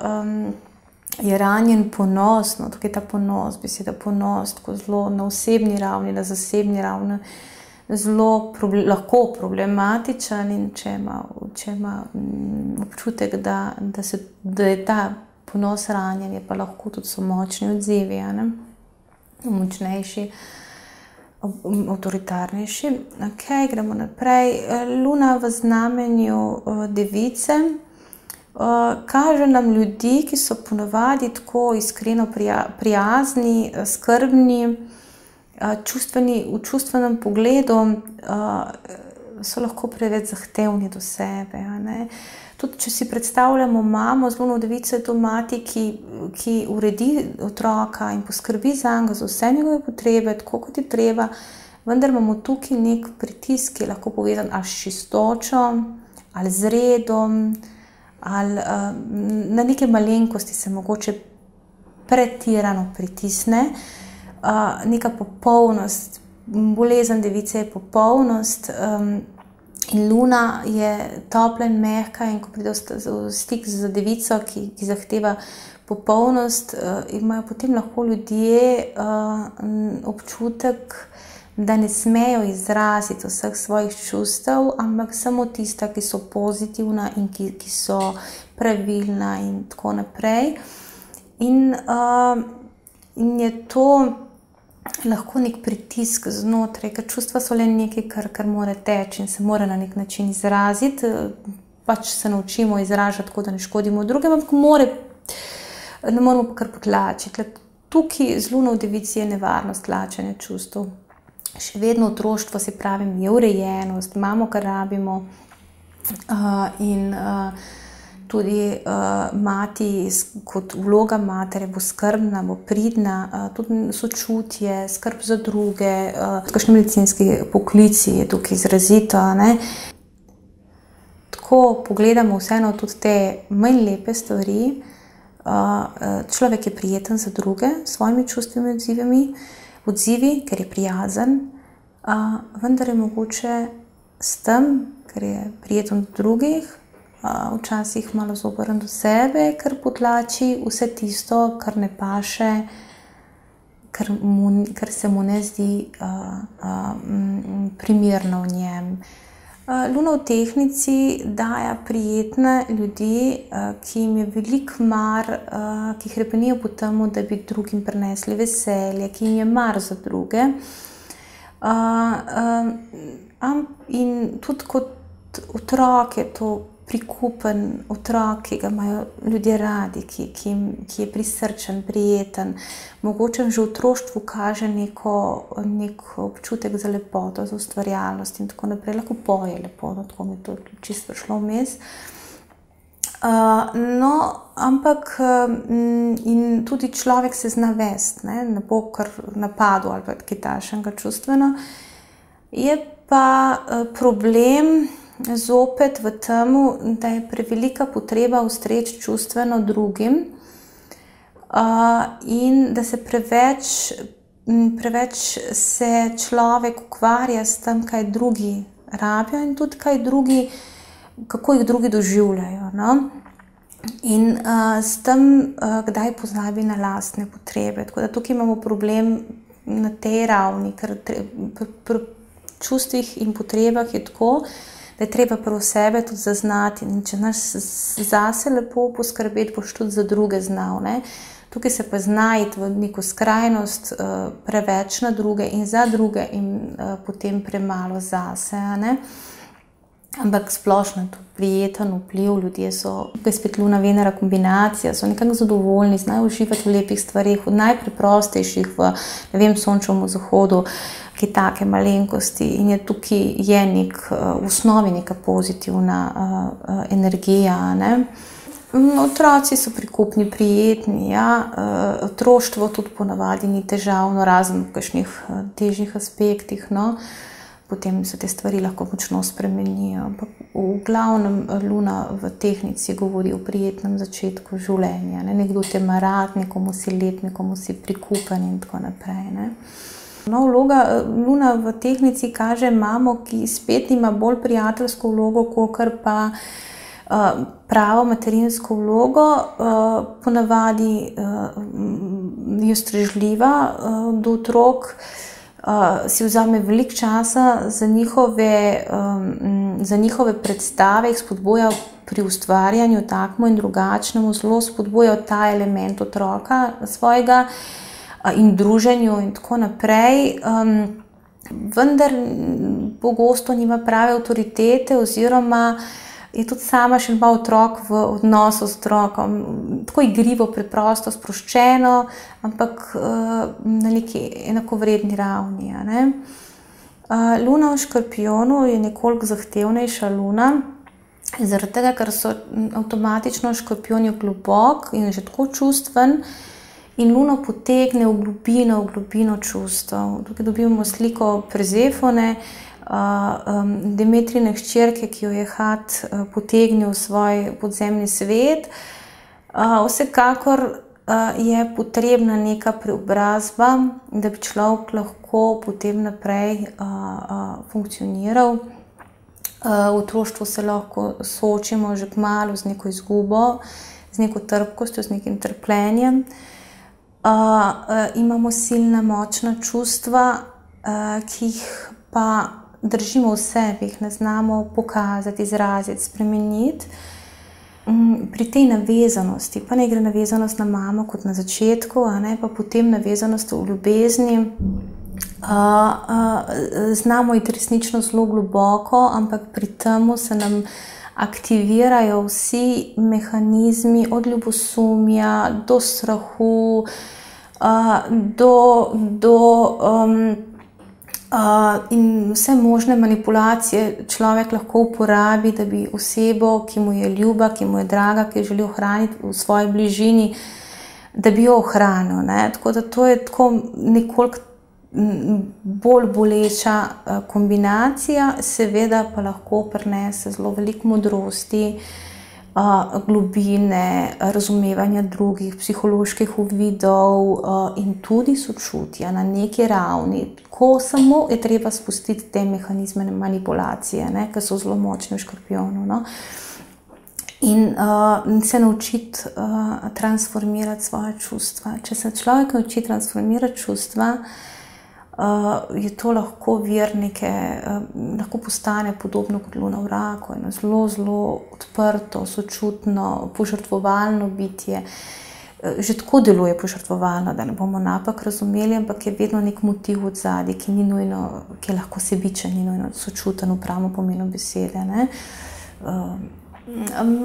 je ranjen ponos, tukaj ta ponos, beseda ponos, tako zelo na osebni ravni, na zasebni ravni, zelo lahko problematičen, in če ima občutek, da je ta ponos ranjen, je pa lahko tudi so močni odzivi, močnejši. avtoritarnejši. Okay, gremo naprej. Luna v znamenju Device kaže nam ljudi, ki so ponavadi tako iskreno prijazni, skrbni, v čustvenem pogledu, so lahko preveč zahtevni do sebe. Ne? Tudi če si predstavljamo mamo z Luno v Devici, je to mati, ki uredi otroka in poskrbi zanj za vse njegove potrebe, tako kot je treba, vendar imamo tukaj nek pritisk, ki je lahko povezan ali s čistočo, ali z redom, ali na neke malenkosti se mogoče pretirano pritisne. Neka popolnost, bolezen Device je popolnost, in Luna je topla in mehka, in ko pride v stik z Devico, ki zahteva popolnost, imajo potem lahko ljudje občutek, da ne smejo izraziti vseh svojih čustev, ampak samo tista, ki so pozitivna in ki so pravilna in tako naprej. In je to lahko nek pritisk znotraj, ker čustva so le nekaj, kar mora teči in se mora na nek način izraziti. Pač se naučimo izražati tako, da ne škodimo drugim, ampak ne moramo pa kar potlačiti. Tukaj z Luno v Devici je nevarnost tlačenja čustev. Še vedno otroštvo, se pravim, je urejenost, imamo, kar rabimo, in tudi mati kot vloga matere bo skrbna, bo pridna, tudi sočutje, skrb za druge, kakšni medicinski poklici je tukaj izrazito. Ne? Ko pogledamo vseeno tudi te manj lepe stvari, človek je prijeten za druge, s svojimi čustvimi odzivi, ker je prijazen, vendar je mogoče s tem, ker je prijeten do drugih, včasih malo zoprn do sebe, ker potlači vse tisto, kar ne paše, kar se mu ne zdi primerno v njem. Luna v Tehnici daje prijetne ljudi, ki jim je veliko mar, ki hrepenijo po tem, da bi drugim prinesli veselje, ki jim je mar za druge. In tudi kot otrok je to prikupen otrok, ki ga imajo ljudje radi, ki je prisrčen, prijeten. Mogoče že v otroštvu kaže nek občutek za lepoto, za ustvarjalnost in tako naprej. Lahko poje lepoto, tako mi je to čisto šlo vmes. Ampak in tudi človek se zna vesti, ne bo kar napadel ali pa kaj takšnega čustveno. Je pa problem zopet v tem, da je prevelika potreba ustreči čustveno drugim, in da se preveč se človek ukvarja s tem, kaj drugi rabijo in tudi kako jih drugi doživljajo. No? In s tem kdaj pozabi na lastne potrebe. Tako da tukaj imamo problem na tej ravni, ker pri čustvih in potrebah je tako, da je treba prav sebe tudi zaznati, in če znaš zase lepo poskrbeti, boš tudi za druge znal. Ne? Tukaj se pa znajti v neko skrajnost, preveč na druge in za druge in potem premalo zase. Ne? Ampak splošno je to prijeten vpliv, ljudje so, tukaj spet Luna, Venera kombinacija, so nekako zadovoljni, znajo uživati v lepih stvarih, v najpreprostejših, v sončevem zahodu, ki take malenkosti, in je tukaj v osnovi neka pozitivna energija. Ne? Otroci so prikupni, prijetni, ja. Otroštvo tudi ponavadi ni težavno, razen v kakšnih težjih aspektih, no. Potem se te stvari lahko močno spremenijo. Ampak v glavnem Luna v Tehnici govori o prijetnem začetku življenja. Ne? Nekdo te ima rad, nekomu si lep, nekomu si prikupen in tako naprej. Ne? No, vloga Luna v Tehnici kaže mamo, ki spet ima bolj prijateljsko vlogo, kakor pa pravo materinsko vlogo. Ponavadi je ustrežljiva do otrok, si vzame veliko časa za njihove predstave, jih spodbuja pri ustvarjanju takmu in drugačnemu, zelo spodbuja ta element otroka svojega in druženju in tako naprej. vendar pogosto nima prave avtoritete oziroma je tudi sama še malo otrok v odnosu z otrokom. Tako igrivo, preprosto, sproščeno, ampak na neki enakovredni ravni. Luna v Škorpijonu je nekoliko zahtevnejša luna, zaradi tega, ker so avtomatično Škorpijoni globok in že tako čustven in Luno potegne v globino čustev. Tukaj dobimo sliko Persefone, Demetrine hčerke, ki jo je Had potegnil v svoj podzemni svet. Vsekakor je potrebna neka preobrazba, da bi človek lahko potem naprej funkcioniral. V otroštvu se lahko soočimo že kmalu z neko izgubo, z neko trpkostjo, z nekim trpljenjem. Imamo silna, močna čustva, ki jih pa držimo v sebi, jih ne znamo pokazati, izraziti, spremeniti. Pri tej navezanosti, pa ne gre navezanost na mamo kot na začetku, pa potem navezanost v ljubezni, znamo iti resnično zelo globoko, ampak pri tem se nam aktivirajo vsi mehanizmi od ljubosumja do strahu, in vse možne manipulacije človek lahko uporabi, da bi osebo, ki mu je ljuba, ki mu je draga, ki jo želi ohraniti v svoji bližini, da bi jo ohranil. Tako da to je tako nekoliko bolj boleča kombinacija, seveda pa lahko prinese zelo veliko modrosti, globine, razumevanja drugih, psiholoških uvidov in tudi sočutja na neki ravni. Ko samo je treba spustiti te mehanizme manipulacije, ki so zelo močni v Škorpijonu. In se naučiti transformirati svoje čustva. Če se človek nauči transformirati čustva, je to lahko vir neke, lahko postane podobno kot Luna v Raku, eno zelo, zelo odprto, sočutno, požrtvovalno bitje. Že tako deluje požrtvovalno, da ne bomo napak razumeli, ampak je vedno nek motiv od zadaj, ki ni nujno, ki je lahko sebičen, ni nujno sočuten v pravem pomenu besede.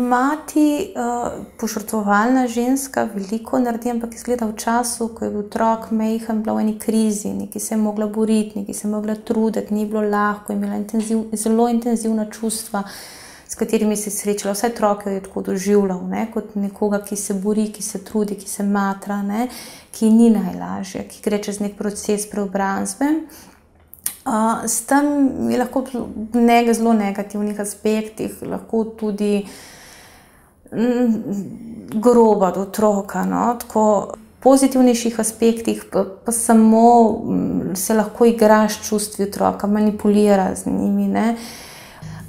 Mati, požrtvovalna ženska, veliko naredi, ampak izgleda v času, ko je bil otrok majhen, bila v eni krizi, nekaj se je mogla boriti, nekaj se je mogla truditi, ni bilo lahko, imela zelo intenzivna čustva, s katerimi se je srečala. Vse otroke je tako doživljal, kot nekoga, ki se bori, ki se trudi, ki se matra, ki ni najlažje, ki gre čez nek proces preobrazbe. S tem je lahko v zelo negativnih aspektih, lahko tudi groba do otroka. Tako v pozitivnejših aspektih pa samo se lahko igra s čustvi otroka, manipulira z njimi.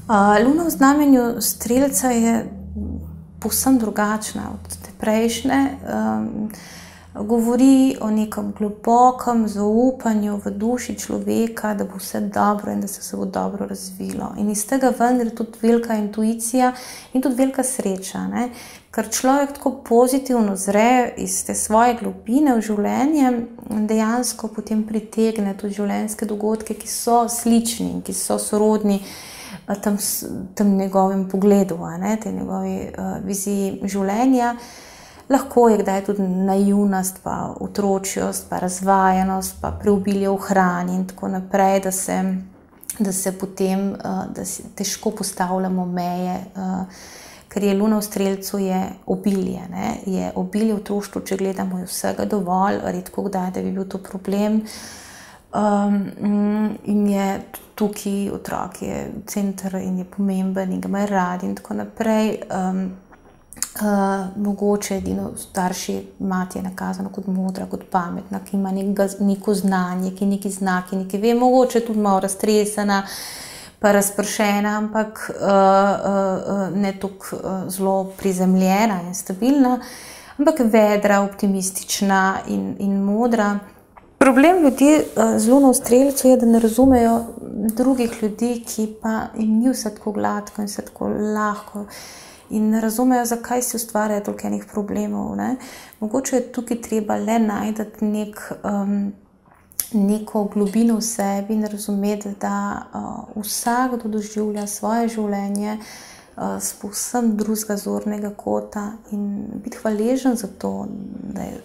Luna v znamenju Strelca je povsem drugačna od te prejšnje. Govori o nekem globokem zaupanju v duši človeka, da bo vse dobro in da se bo dobro razvilo. In iz tega vendar je tudi velika intuicija in tudi velika sreča. Ker človek tako pozitivno zre iz te svoje globine v življenje, dejansko potem pritegne tudi življenjske dogodke, ki so slični in ki so sorodni tem njegovem pogledu, tej njegovi viziji življenja. Lahko je kdaj tudi naivnost, pa otročjost, pa razvajenost, pa preobilje v hrani in tako naprej, da se potem težko postavljamo meje, ker je Luna v Strelcu je obilje. Je obilje v otroštvu, če gledamo, je vsega dovolj, redko kdaj, da bi bil to problem. In je tukaj otrok, je center in je pomemben in ga imajo radi in tako naprej. Mogoče edino starši, mati je nakazano kot modra, kot pametna, ki ima neko znanje, ki neki znaki, neki ve, mogoče tudi malo raztresena, pa razpršena, ampak ne tako zelo prizemljena in stabilna, ampak vedra, optimistična in modra. Problem ljudi z Luno v Strelcu je, da ne razumejo drugih ljudi, ki pa jim ni vse tako gladko in vse tako lahko. In ne razumejo, zakaj si ustvarjajo toliko enih problemov. Mogoče je tukaj treba le najti neko globino v sebi in razumeti, da vsakdo doživlja svoje življenje s povsem drugega zornega kota in biti hvaležen za to,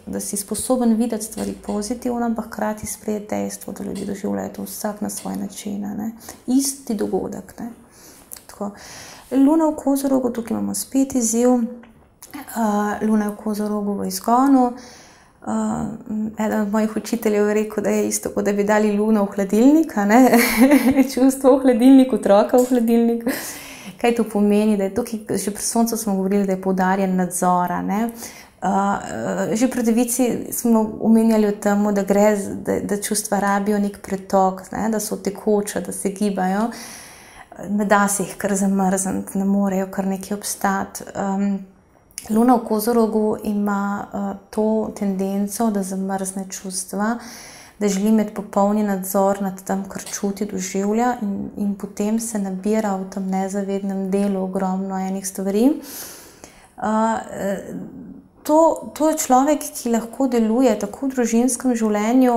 da si sposoben videti stvari pozitivno, ampak hkrati sprejeti dejstvo, da ljudje doživljajo to vsak na svoj način, ne. Isti dogodek, ne. Tako. Luna v Kozorogu, tukaj imamo spet izziv. Luna v Kozorogu v izgonu. Eden od mojih učiteljev je rekel, da je isto, kot da bi dali luno v hladilnik, ne. Čustvo v hladilnik, otroka v hladilnik. Kaj to pomeni? Da je tukaj, že pri soncu smo govorili, da je poudarjen nadzora, ne. Že pri devici smo omenjali o tem, da gre, da čustva rabijo nek pretok, ne, da so tekoča, da se gibajo. Ne da se jih kar zamrzniti, ne morejo kar nekaj obstati. Luna v Kozorogu ima to tendenco, da zamrzne čustva, da želi imeti popolni nadzor nad tem, kar čuti, doživlja in potem se nabira v tem nezavednem delu ogromno enih stvari. To je človek, ki lahko deluje tako v družinskem življenju,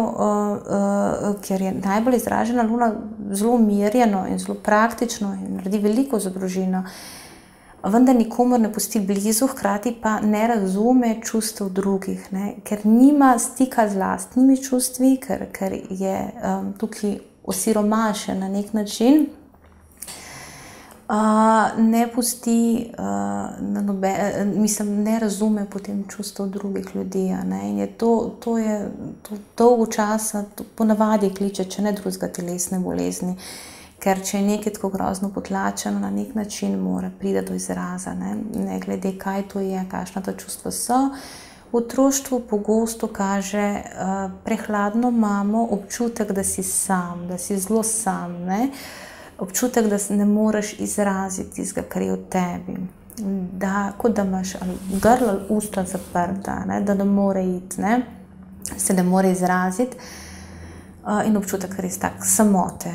kjer je najbolj izražena Luna, zelo umirjeno in zelo praktično in naredi veliko za družino, vendar nikomur ne pusti blizu, hkrati pa ne razume čustev drugih, ne, ker nima stika z lastnimi čustvi, ker je tukaj osiromašen na nek način. Ne pusti, ne razume potem čustev drugih ljudi, ne, in je to dolgo časa, ponavadi kliče, če ne drugega, telesne bolezni, ker če je nekaj tako grozno potlačeno, na nek način mora priti do izraza, ne glede kaj to je, kakšna ta čustva so. V otroštvu pogosto kaže prehladno mamo občutek, da si sam, da si zelo sam, ne. Občutek, da ne moreš izraziti tistega, kar je v tebi. Kot da imaš grlo ali usta zaprta, ne, da ne more iti, ne, se ne more izraziti. In občutek res tak samote.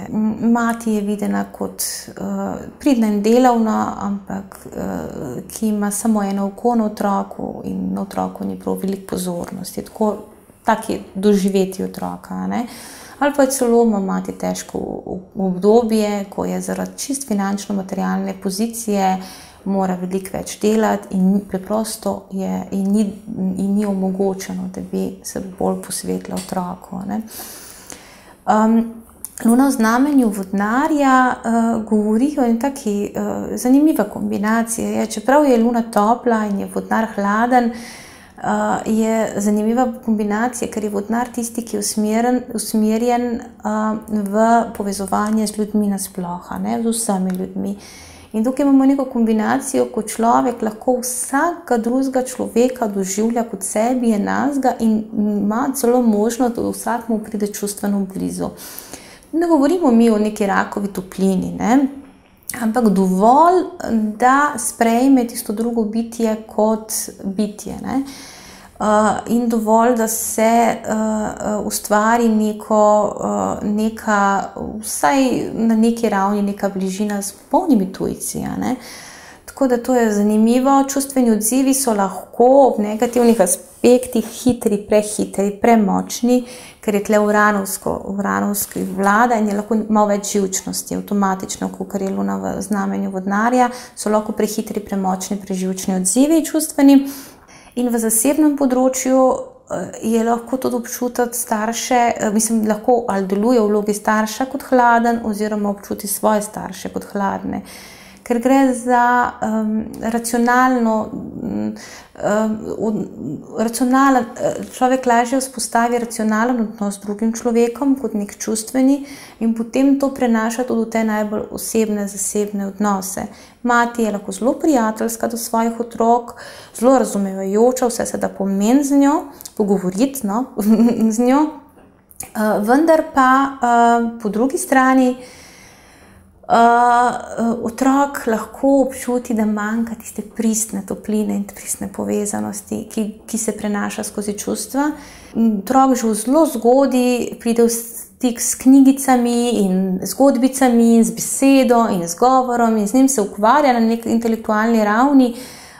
Mati je videna kot pridna in delavna, ampak ki ima samo eno oko na otroku in na otroku ni prav veliko pozornosti. Tak je doživeti otroka, ne. Ali pa celo ima mati težko obdobje, ko je zaradi čist finančno-materialne pozicije, mora veliko več delati in preprosto je in ni omogočeno, da bi se bolj posvetila otroku, ne. Luna v znamenju vodnarja govori o eni taki zanimiva kombinacija. Čeprav je Luna topla in je vodnar hladen, je zanimiva kombinacija, ker je vodnar tisti, ki je usmerjen v povezovanje z ljudmi nasploh, ne, z vsemi ljudmi. In tukaj imamo neko kombinacijo, ko človek lahko vsakega drugega človeka doživlja kot sebi enakega in ima celo možnost, da vsakmu pride čustveno blizu. Ne govorimo mi o neki rakovi toplini, ne? Ampak dovolj, da sprejme tisto drugo bitje kot bitje, ne? In dovolj, da se ustvari neka, vsaj na neki ravni, neka bližina s polnimi tujci, ne? Tako da to je zanimivo. Čustveni odzivi so lahko ob negativnih aspektih hitri, prehitri, premočni, ker je tle uranovski vlada in je lahko malo več živčnosti, avtomatično, kot je Luna v znamenju vodnarja, so lahko prehitri, premočni, preživčni odzivi čustveni. In v zasebnem področju je lahko tudi občutiti starše, lahko ali deluje v vlogi starša kot hladen oziroma občuti svoje starše kot hladne. Ker gre za človek lažje vzpostavi racionalen odnos z drugim človekom kot nek čustveni in potem to prenaša tudi v te najbolj osebne, zasebne odnose. Mati je lahko zelo prijateljska do svojih otrok, zelo razumevajoča, vse se da pomeni z njo, pogovoriti z njo, vendar pa po drugi strani otrok lahko občuti, da manjka tiste pristne topline in pristne povezanosti, ki se prenaša skozi čustva. Otrok že v zelo zgodaj pride v stik s knjigicami in zgodbicami in z besedo in z govorom in z njim se ukvarja na neki intelektualni ravni,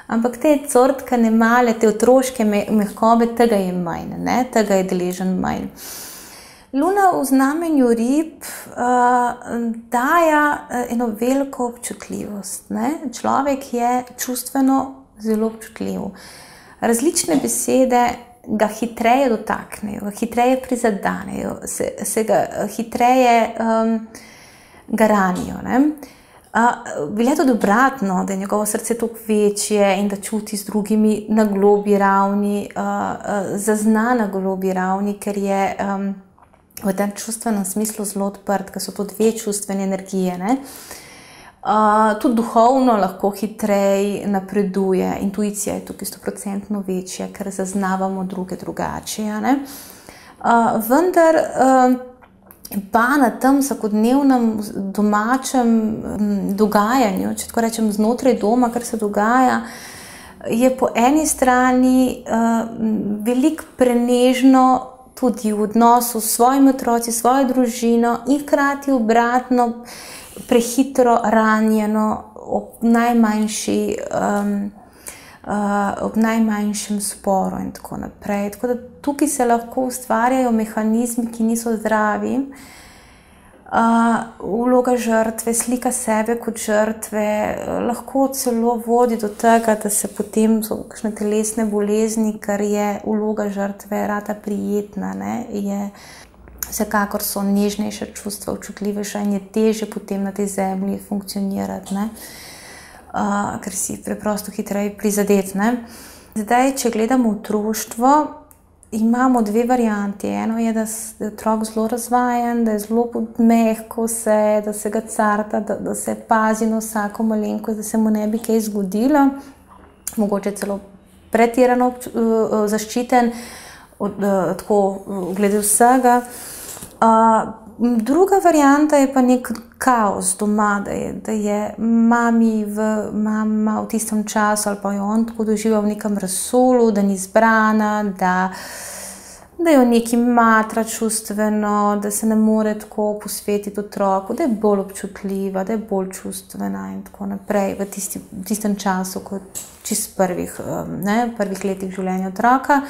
ampak te cortkane male, te otroške mehkobe, tega je manj, ne? Tega je deležen manj. Luna v znamenju rib daje eno veliko občutljivost. Ne? Človek je čustveno zelo občutljiv. Različne besede ga hitreje dotaknejo, ga hitreje prizadenejo, se ga hitreje ga ranijo. Velja tudi obratno, da je njegovo srce toliko večje in da čuti z drugimi na globlji ravni, zazna na globlji ravni, ker je v tem čustvenem smislu zelo odprt, ker so to dve čustvene energije. Ne? Tudi duhovno lahko hitreje napreduje, intuicija je tukaj 100% večja, ker zaznavamo druge drugače. Vendar pa na tem vsakodnevnem domačem dogajanju, če tako rečem znotraj doma, kar se dogaja, je po eni strani veliko prenežno tudi v odnosu s svojimi otroci, svojo družino in hkrati obratno prehitro ranjeno ob najmanjšem sporu in tako naprej. Tako da tukaj se lahko ustvarjajo mehanizmi, ki niso zdravi. Vloga žrtve, slika sebe kot žrtve, lahko celo vodi do tega, da se potem so kakšne telesne bolezni, ker je vloga žrtve rada prijetna. Vsekakor so nežnejša čustva, občutljivejša in je težje potem na tej zemlji funkcionirati. Ker si preprosto hitreje prizadet. Zdaj, če gledamo otroštvo, imamo dve varianti. Eno je, da je otrok zelo razvajen, da je zelo mehko vse, da se ga carta, da se pazi na vsako malenkost, da se mu ne bi kaj zgodilo. Mogoče celo pretirano zaščiten, tako glede vsega. Druga varianta je pa nek kaos doma, da je mama v tistem času ali pa jo on tako doživa v nekem razsolu, da ni zbrana, da jo nekaj matra čustveno, da se ne more tako posvetiti otroku, da je bolj občutljiva, da je bolj čustvena in tako naprej v tistem času, kot čist prvih letih življenja otroka.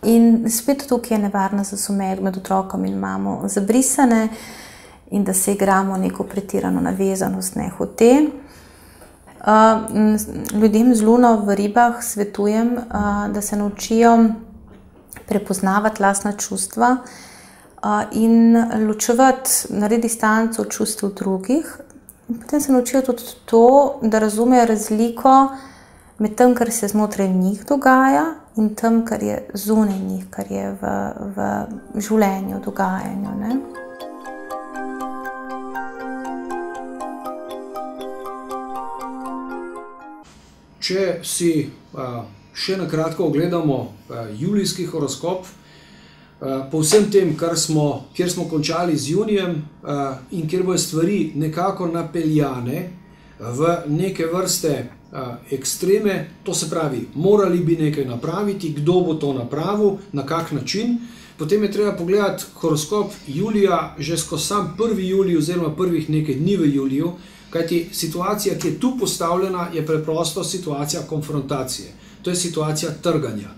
In spet tukaj je nevarnost, da so med otrokom in mamo zabrisane in da se igramo neko pretirano navezanost nehote. Ljudem z luno v ribah svetujem, da se naučijo prepoznavati lastna čustva in ločevati, narediti distanco od čustev drugih. In potem se naučijo tudi to, da razumejo razliko med tem, kar se znotraj njih dogaja in tem, kar je zunaj njih, kar je v življenju, dogajanju. Če si še na kratko ogledamo julijski horoskop, po vsem tem, kjer smo končali z junijem in kjer bojo stvari nekako napeljane v neke vrste ekstreme, to se pravi, morali bi nekaj napraviti, kdo bo to napravil, na kak način. Potem je treba pogledati horoskop julija že skozi sam 1. julij oziroma prvih nekaj dni v juliju, kajti situacija, ki je tu postavljena, je preprosto situacija konfrontacije. To je situacija trganja.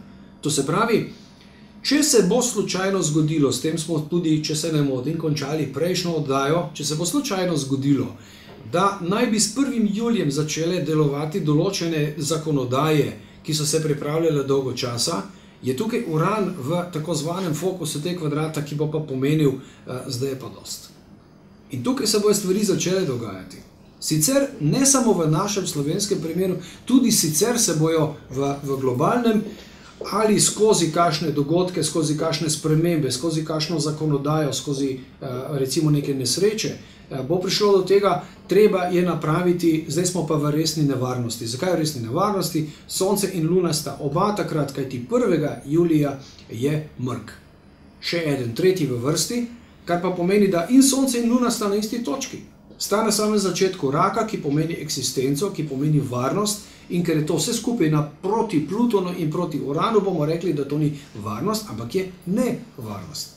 To se pravi, če se bo slučajno zgodilo, s tem smo tudi, če se ne motim, končali prejšnjo oddajo, če se bo slučajno zgodilo, da naj bi s 1. julijem začele delovati določene zakonodaje, ki so se pripravljale dolgo časa, je tukaj Uran v tako zvanem fokusu te kvadrata, ki bo pa pomenil, zdaj je pa dost. In tukaj se bojo stvari začele dogajati. Sicer ne samo v našem slovenskem primeru, tudi sicer se bojo v globalnem ali skozi kakšne dogodke, skozi kakšne spremembe, skozi kakšno zakonodajo, skozi recimo neke nesreče, bo prišlo do tega, treba je napraviti, zdaj smo pa v resni nevarnosti. Zakaj v resni nevarnosti? Sonce in Luna sta oba takrat, kajti 1. julija je mrk. Še eden, tretji v vrsti, kar pa pomeni, da in Sonce in Luna sta na isti točki. Sta na samem začetku raka, ki pomeni eksistenco, ki pomeni varnost, in ker je to vse skupaj proti Plutonu in proti Uranu, bomo rekli, da to ni varnost, ampak je nevarnost.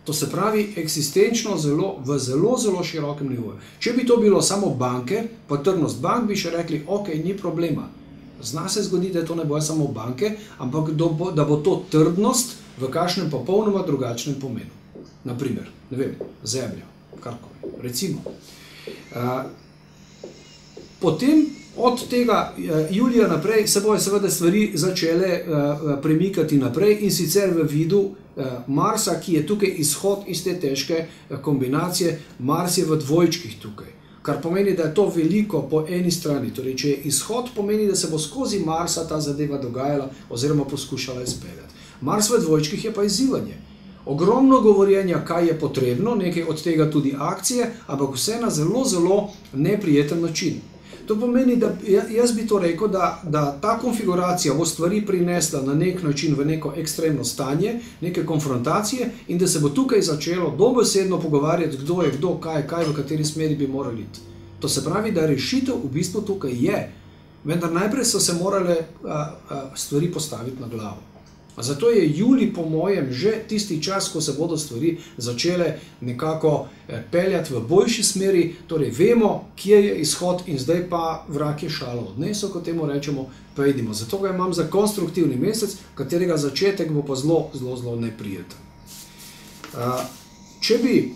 To se pravi eksistenčno v zelo širokem nivoju. Če bi to bilo samo banke, pa trdnost bank, bi še rekli, ok, ni problema. Zna se zgodi, da to ne bojo samo banke, ampak da bo to trdnost v kakšnem popolnoma drugačnem pomenu. naprimer, ne vem, Zemlja, karkoli, recimo. Potem od tega julija naprej se bojo seveda stvari začele premikati naprej in sicer v vidu Marsa, ki je tukaj izhod iz te težke kombinacije. Mars je v dvojčkih tukaj, kar pomeni, da je to veliko po eni strani. Torej, če je izhod, pomeni, da se bo skozi Marsa ta zadeva dogajala oziroma poskušala izpeljati. Mars v dvojčkih je pa izzivanje. Ogromno govorjenja, kaj je potrebno, nekaj od tega tudi akcije, ampak vse na zelo, zelo neprijeten način. To pomeni, da jaz bi to rekel, da ta konfiguracija bo stvari prinesla na nek način v neko ekstremno stanje, neke konfrontacije in da se bo tukaj začelo dobesedno pogovarjati, kdo je kdo, kaj, v kateri smeri bi morali iti. To se pravi, da rešitev v bistvu tukaj je, vendar najprej so se morale stvari postaviti na glavo. Zato je julij po mojem že tisti čas, ko se bodo stvari začele nekako peljati v boljši smeri, torej vemo, kje je izhod in zdaj pa vrag je šalo odnesel, kot temu rečemo, pa idimo. Zato ga imam za konstruktivni mesec, katerega začetek bo pa zelo, zelo, zelo neprijeten. Če bi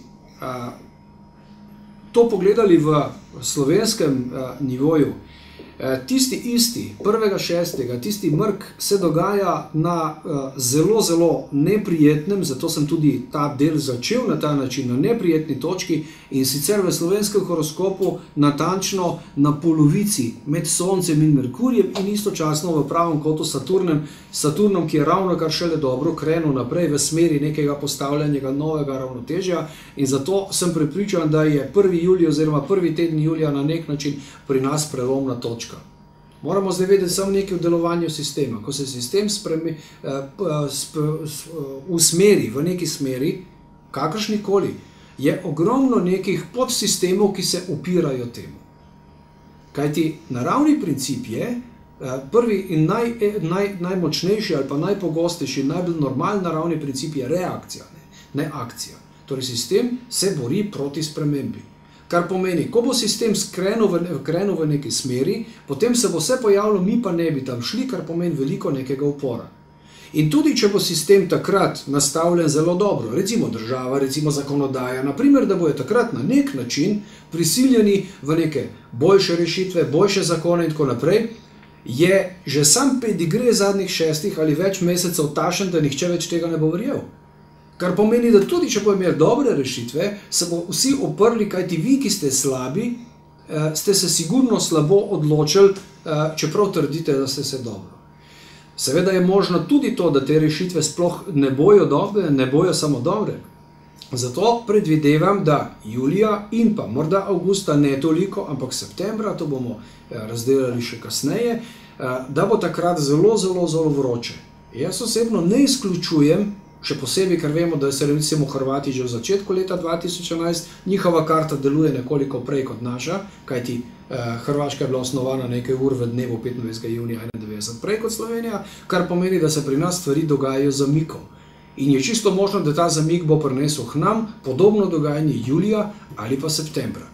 to pogledali v slovenskem nivoju, tisti isti, 1.6., tisti mrk se dogaja na zelo, zelo neprijetnem, zato sem tudi ta del začel na ta način, na neprijetni točki in sicer v slovenskem horoskopu natančno na polovici med Soncem in Merkurjem in istočasno v pravem kotu Saturnom, ki je ravno kar šele dobro krenil naprej v smeri nekega postavljanega novega ravnotežja in zato sem prepričan, da je 1. julij oziroma prvi teden julija na nek način pri nas prelomna točka. Moramo zdaj vedeti samo nekaj o delovanju sistema. Ko se sistem usmeri v neki smeri, kakršnikoli, je ogromno nekih podsistemov, ki se upirajo temu. Kajti naravni princip je, prvi in najmočnejši ali pa najpogostejši, najbolj normalen naravni princip je reakcija, ne akcija. Torej sistem se bori proti spremembi. Kar pomeni, ko bo sistem krenil v neki smeri, potem se bo vse pojavilo, mi pa ne bi tam šli, kar pomeni veliko nekega upora. In tudi, če bo sistem takrat nastavljen zelo dobro, recimo država, recimo zakonodaja, naprimer, da bojo takrat na nek način prisiljeni v neke boljše rešitve, boljše zakone in tako naprej, je že sam pedigre zadnjih 6 ali več mesecev tašen, da nihče več tega ne bo verjel. Kar pomeni, da tudi, če bo imeli dobre rešitve, se bo vsi oprli, kajti vi, ki ste slabi, ste se sigurno slabo odločili, čeprav trdite, da ste se dobro. Seveda je možno tudi to, da te rešitve sploh ne bojo dobre, ne bojo samo dobre. Zato predvidevam, da julija in pa morda avgusta ne toliko, ampak septembra, to bomo razdelali še kasneje, da bo takrat zelo, zelo, zelo vroče. Jaz osebno ne izključujem, še posebej, ker vemo, da se recimo Hrvati že v začetku leta 2011, njihova karta deluje nekoliko prej kot naša, kajti Hrvaška je bila osnovana nekaj ur v dnevu 25. junija 1991 prej kot Slovenija, kar pomeni, da se pri nas stvari dogajajo zamikom. In je čisto možno, da ta zamik bo prinesel k nam podobno dogajanje julija ali pa septembra.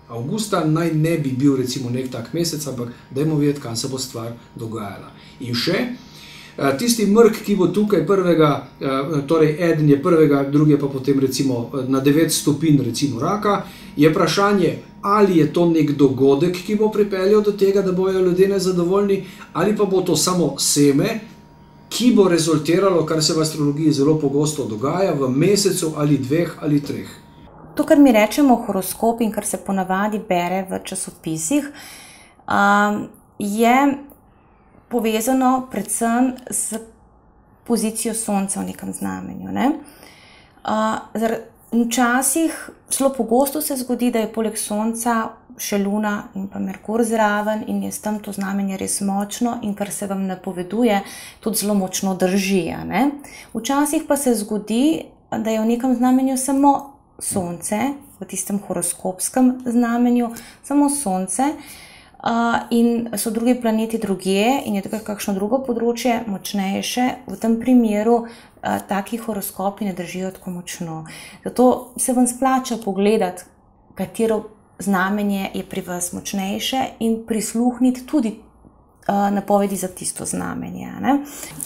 Avgusta naj ne bi bil recimo nek tak mesec, ampak dajmo videti, kam se bo stvar dogajala. In še, tisti mrk, ki bo tukaj torej eden je prvega, drugi pa potem recimo na 9 stopinj recimo raka, je vprašanje, ali je to nek dogodek, ki bo pripeljal do tega, da bojo ljudje nezadovoljni, ali pa bo to samo seme, ki bo rezultiralo, kar se v astrologiji zelo pogosto dogaja, v mesecu ali 2 ali 3. To, kar mi rečemo horoskop in kar se ponavadi bere v časopisih, je povezano predvsem s pozicijo Sonca v nekem znamenju. Včasih, zelo pogosto se zgodi, da je poleg Sonca še Luna in pa Merkur zraven in je s tem to znamenje res močno in kar se vam napoveduje, tudi zelo močno drži. Včasih pa se zgodi, da je v nekem znamenju samo Sonce, v tistem horoskopskem znamenju, samo Sonce, in so drugi planeti drugje in je tukaj kakšno drugo področje močnejše, v tem primeru taki horoskopi ne držijo tako močno. Zato se vam splača pogledati, katero znamenje je pri vas močnejše in prisluhniti tudi napovedi za tisto znamenje.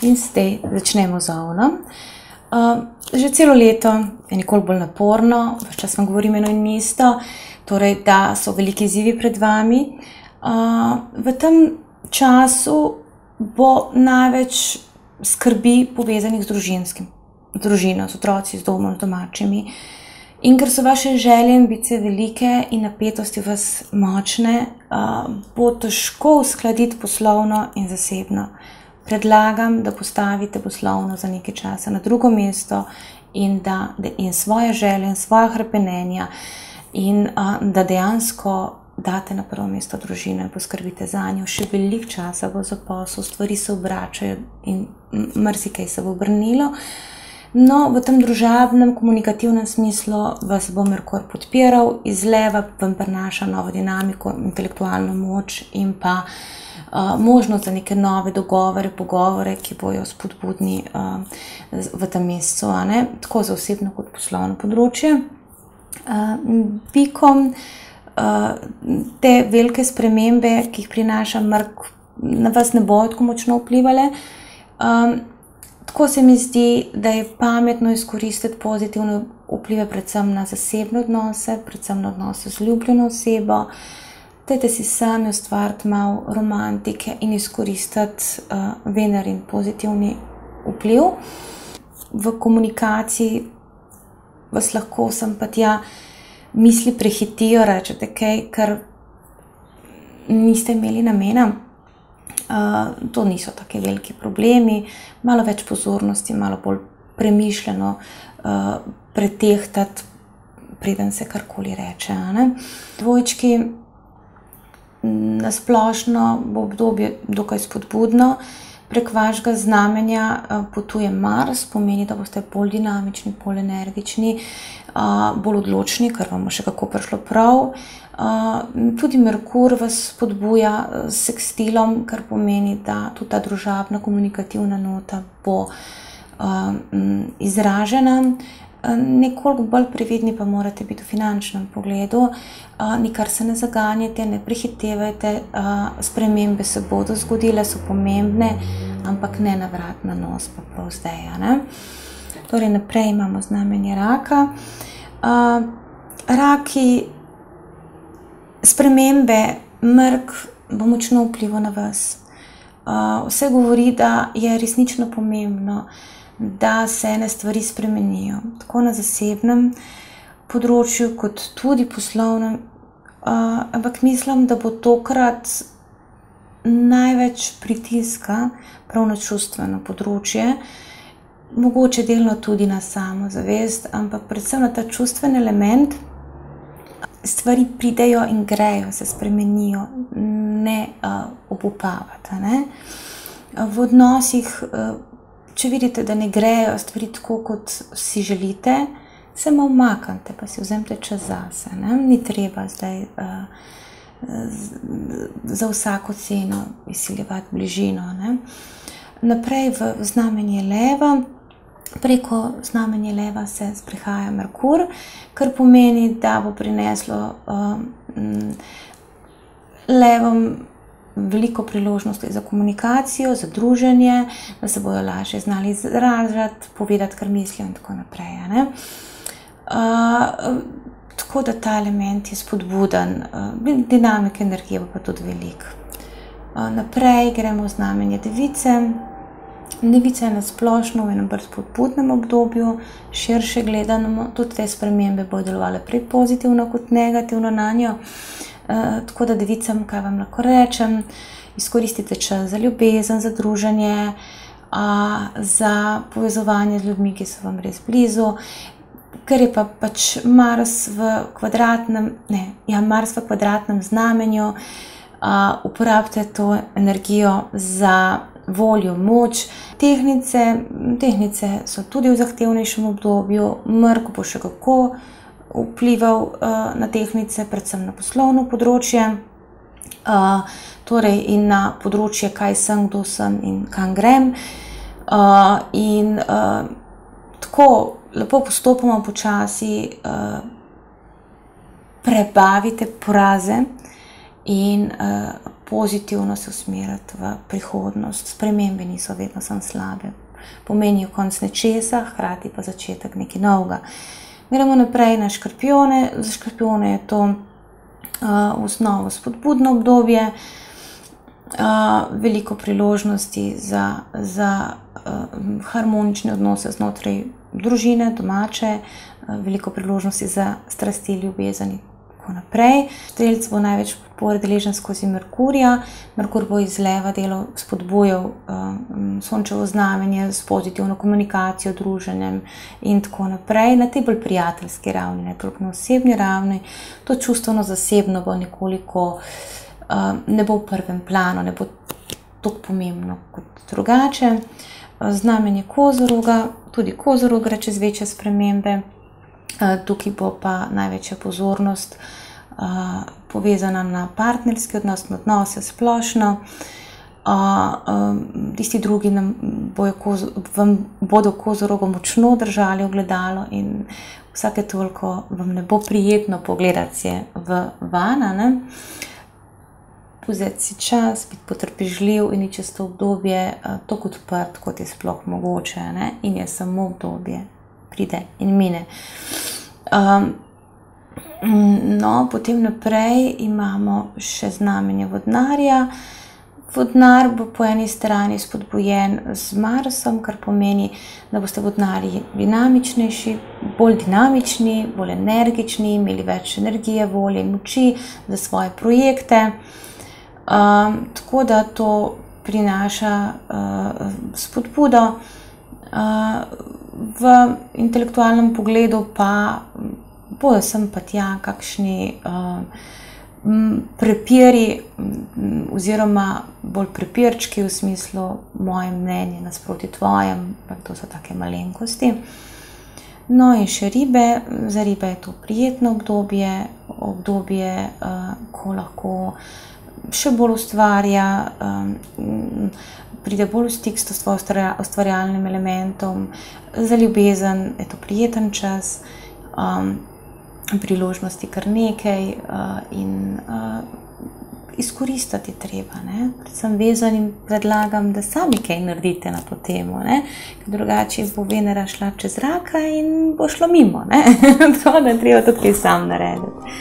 In zdaj začnemo z Ovnom. Že celo leto je nekoliko bolj naporno, ves čas vam govorim eno in isto, torej da so veliki izzivi pred vami. V tem času bo največ skrbi povezanih z družino, z otroci, z domom, z domačimi. In ker so vaše želje in ambicije velike in napetosti vas močne, bo težko uskladiti poslovno in zasebno. Predlagam, da postavite poslovno za nekaj časa na drugo mesto in svoje želje in svoja hrepenenja in da dejansko date na prvo mesto družino in poskrbite za njo. Še veliko časa bo za posel, stvari se obračajo in marsikaj se bo obrnilo. No, v tem družabnem, komunikativnem smislu vas bo Merkur podpiral, iz leva vam prinaša novo dinamiko, intelektualno moč in pa možnost za neke nove dogovore, pogovore, ki bojo spodbudni v tem mesecu, tako za osebno kot poslovno področje. Bikom te velike spremembe, ki jih prinaša Merkur, na vas ne bojo tako močno vplivale. Tako se mi zdi, da je pametno izkoristiti pozitivne vplive predvsem na zasebne odnose, predvsem na odnose z ljubljeno osebo. Dajte si sami ustvariti malo romantike in izkoristiti Venerin pozitivni vpliv. V komunikaciji vas lahko sem pa tja misli prehitijo, rečete kaj, kar niste imeli namena. To niso taki veliki problemi, malo več pozornosti, malo bolj premišljeno pretehtati, preden se karkoli reče. Dvojčki, na splošno bo obdobje dokaj spodbudno. Prek vašega znamenja potuje Mars, pomeni, da boste bolj dinamični, bolj energični, bolj odločni, kar vam bo še kako prišlo prav. Tudi Merkur vas spodbuja s sekstilom, kar pomeni, da tudi ta družabna komunikativna nota bo izražena. Nekoliko bolj previdni pa morate biti v finančnem pogledu, nikar se ne zaganjate, ne prehitevajte, spremembe se bodo zgodile, so pomembne, ampak ne na vrat na nos, pa prav zdaj. Torej naprej imamo znamenje Raka. Raki, spremembe, Merkur bo močno vplival na vas. Vse govori, da je resnično pomembno, da se ene stvari spremenijo, tako na zasebnem področju, kot tudi poslovnem, ampak mislim, da bo tokrat največ pritiska prav na čustveno področje, mogoče delno tudi na samozavest, ampak predvsem na ta čustven element. Stvari pridejo in grejo, se spremenijo, ne obupavate. V odnosih, če vidite, da ne grejo stvari tako, kot si želite, se malo umaknite, pa si vzemite čas zase. Ni treba zdaj za vsako ceno izsiljevati bližino. Naprej v znamenje Leva. Preko znamenja Leva se sprehaja Merkur, kar pomeni, da bo prineslo Levom veliko priložnosti za komunikacijo, za druženje, da se bojo lažje znali izražati, povedati, kar mislijo in tako naprej. Tako da ta element je spodbuden, dinamike energije bo pa tudi veliko. Naprej gremo v znamenje Device. Devica je na splošno v enem bolj spodbudnem obdobju, širše gledano, tudi te spremembe bodo delovale prej pozitivno kot negativno na njo. Tako da Devicam, kaj vam lahko rečem, izkoristite čas za ljubezen, za druženje, za povezovanje z ljudmi, ki so vam res blizu, ker je pa pač Mars v kvadratnem znamenju, uporabite to energijo za voljo, moč. Tehnice so tudi v zahtevnejšem obdobju, Merkur bo še kako vplival na tehnice, predvsem na poslovno področje, torej in na področje, kaj sem, kdo sem in kam grem. In tako lepo postopoma počasi prebavite poraze in pozitivno se usmeriti v prihodnost. Spremembe niso vedno samo slabe. pomenijo konec nečesa, hkrati pa začetek nekaj novega. Gremo naprej na škorpijone. Za škorpijone je to v osnovi spodbudno obdobje, veliko priložnosti za harmonične odnose znotraj družine, domače, veliko priložnosti za strasti, ljubezen in tako naprej. Strelec bo največ podpore deležen skozi Merkurja. Merkur bo iz leva delo spodbujal sončevo znamenje s pozitivno komunikacijo, druženjem in tako naprej. Na tej bolj prijateljski ravni, ne toliko na osebni ravni. To čustveno zasebno bo nekoliko, ne bo v prvem planu, ne bo tako pomembno kot drugače. Znamenje Kozoroga, tudi Kozorog gre čez večje spremembe. Tukaj bo pa največja pozornost povezana na partnerski odnos, na odnose splošno. Tisti drugi vam bodo Kozorogo močno držali ogledalo in vsake toliko vam ne bo prijetno pogledati se v vana. Vzeti si čas, biti potrpežljiv in čez to obdobje tako odprt, kot je sploh mogoče, ne? In je samo obdobje, pride in mine. No, potem naprej imamo še znamenje Vodnarja. Vodnar bo po eni strani spodbujen z Marsom, kar pomeni, da boste vodnarji dinamičnejši, bolj dinamični, bolj energični, imeli več energije, volje in moči za svoje projekte. Tako da to prinaša spodbudo. V intelektualnem pogledu pa bojo sem pa tja kakšni prepiri oziroma bolj prepirčki v smislu moje mnenje nasproti tvojem, to so take malenkosti. No in še ribe. Za ribe je to prijetno obdobje, ko lahko še bolj ustvarja, pride bolj v stik s svojim ustvarjalnim elementom. Za ljubezen je to prijeten čas, priložnosti kar nekaj in izkoristiti treba. Predvsem vezanim predlagam, da sami kaj naredite na to temo, ker drugače bo Venera šla čez raka in bo šlo mimo. Tako da treba tudi kaj sam narediti.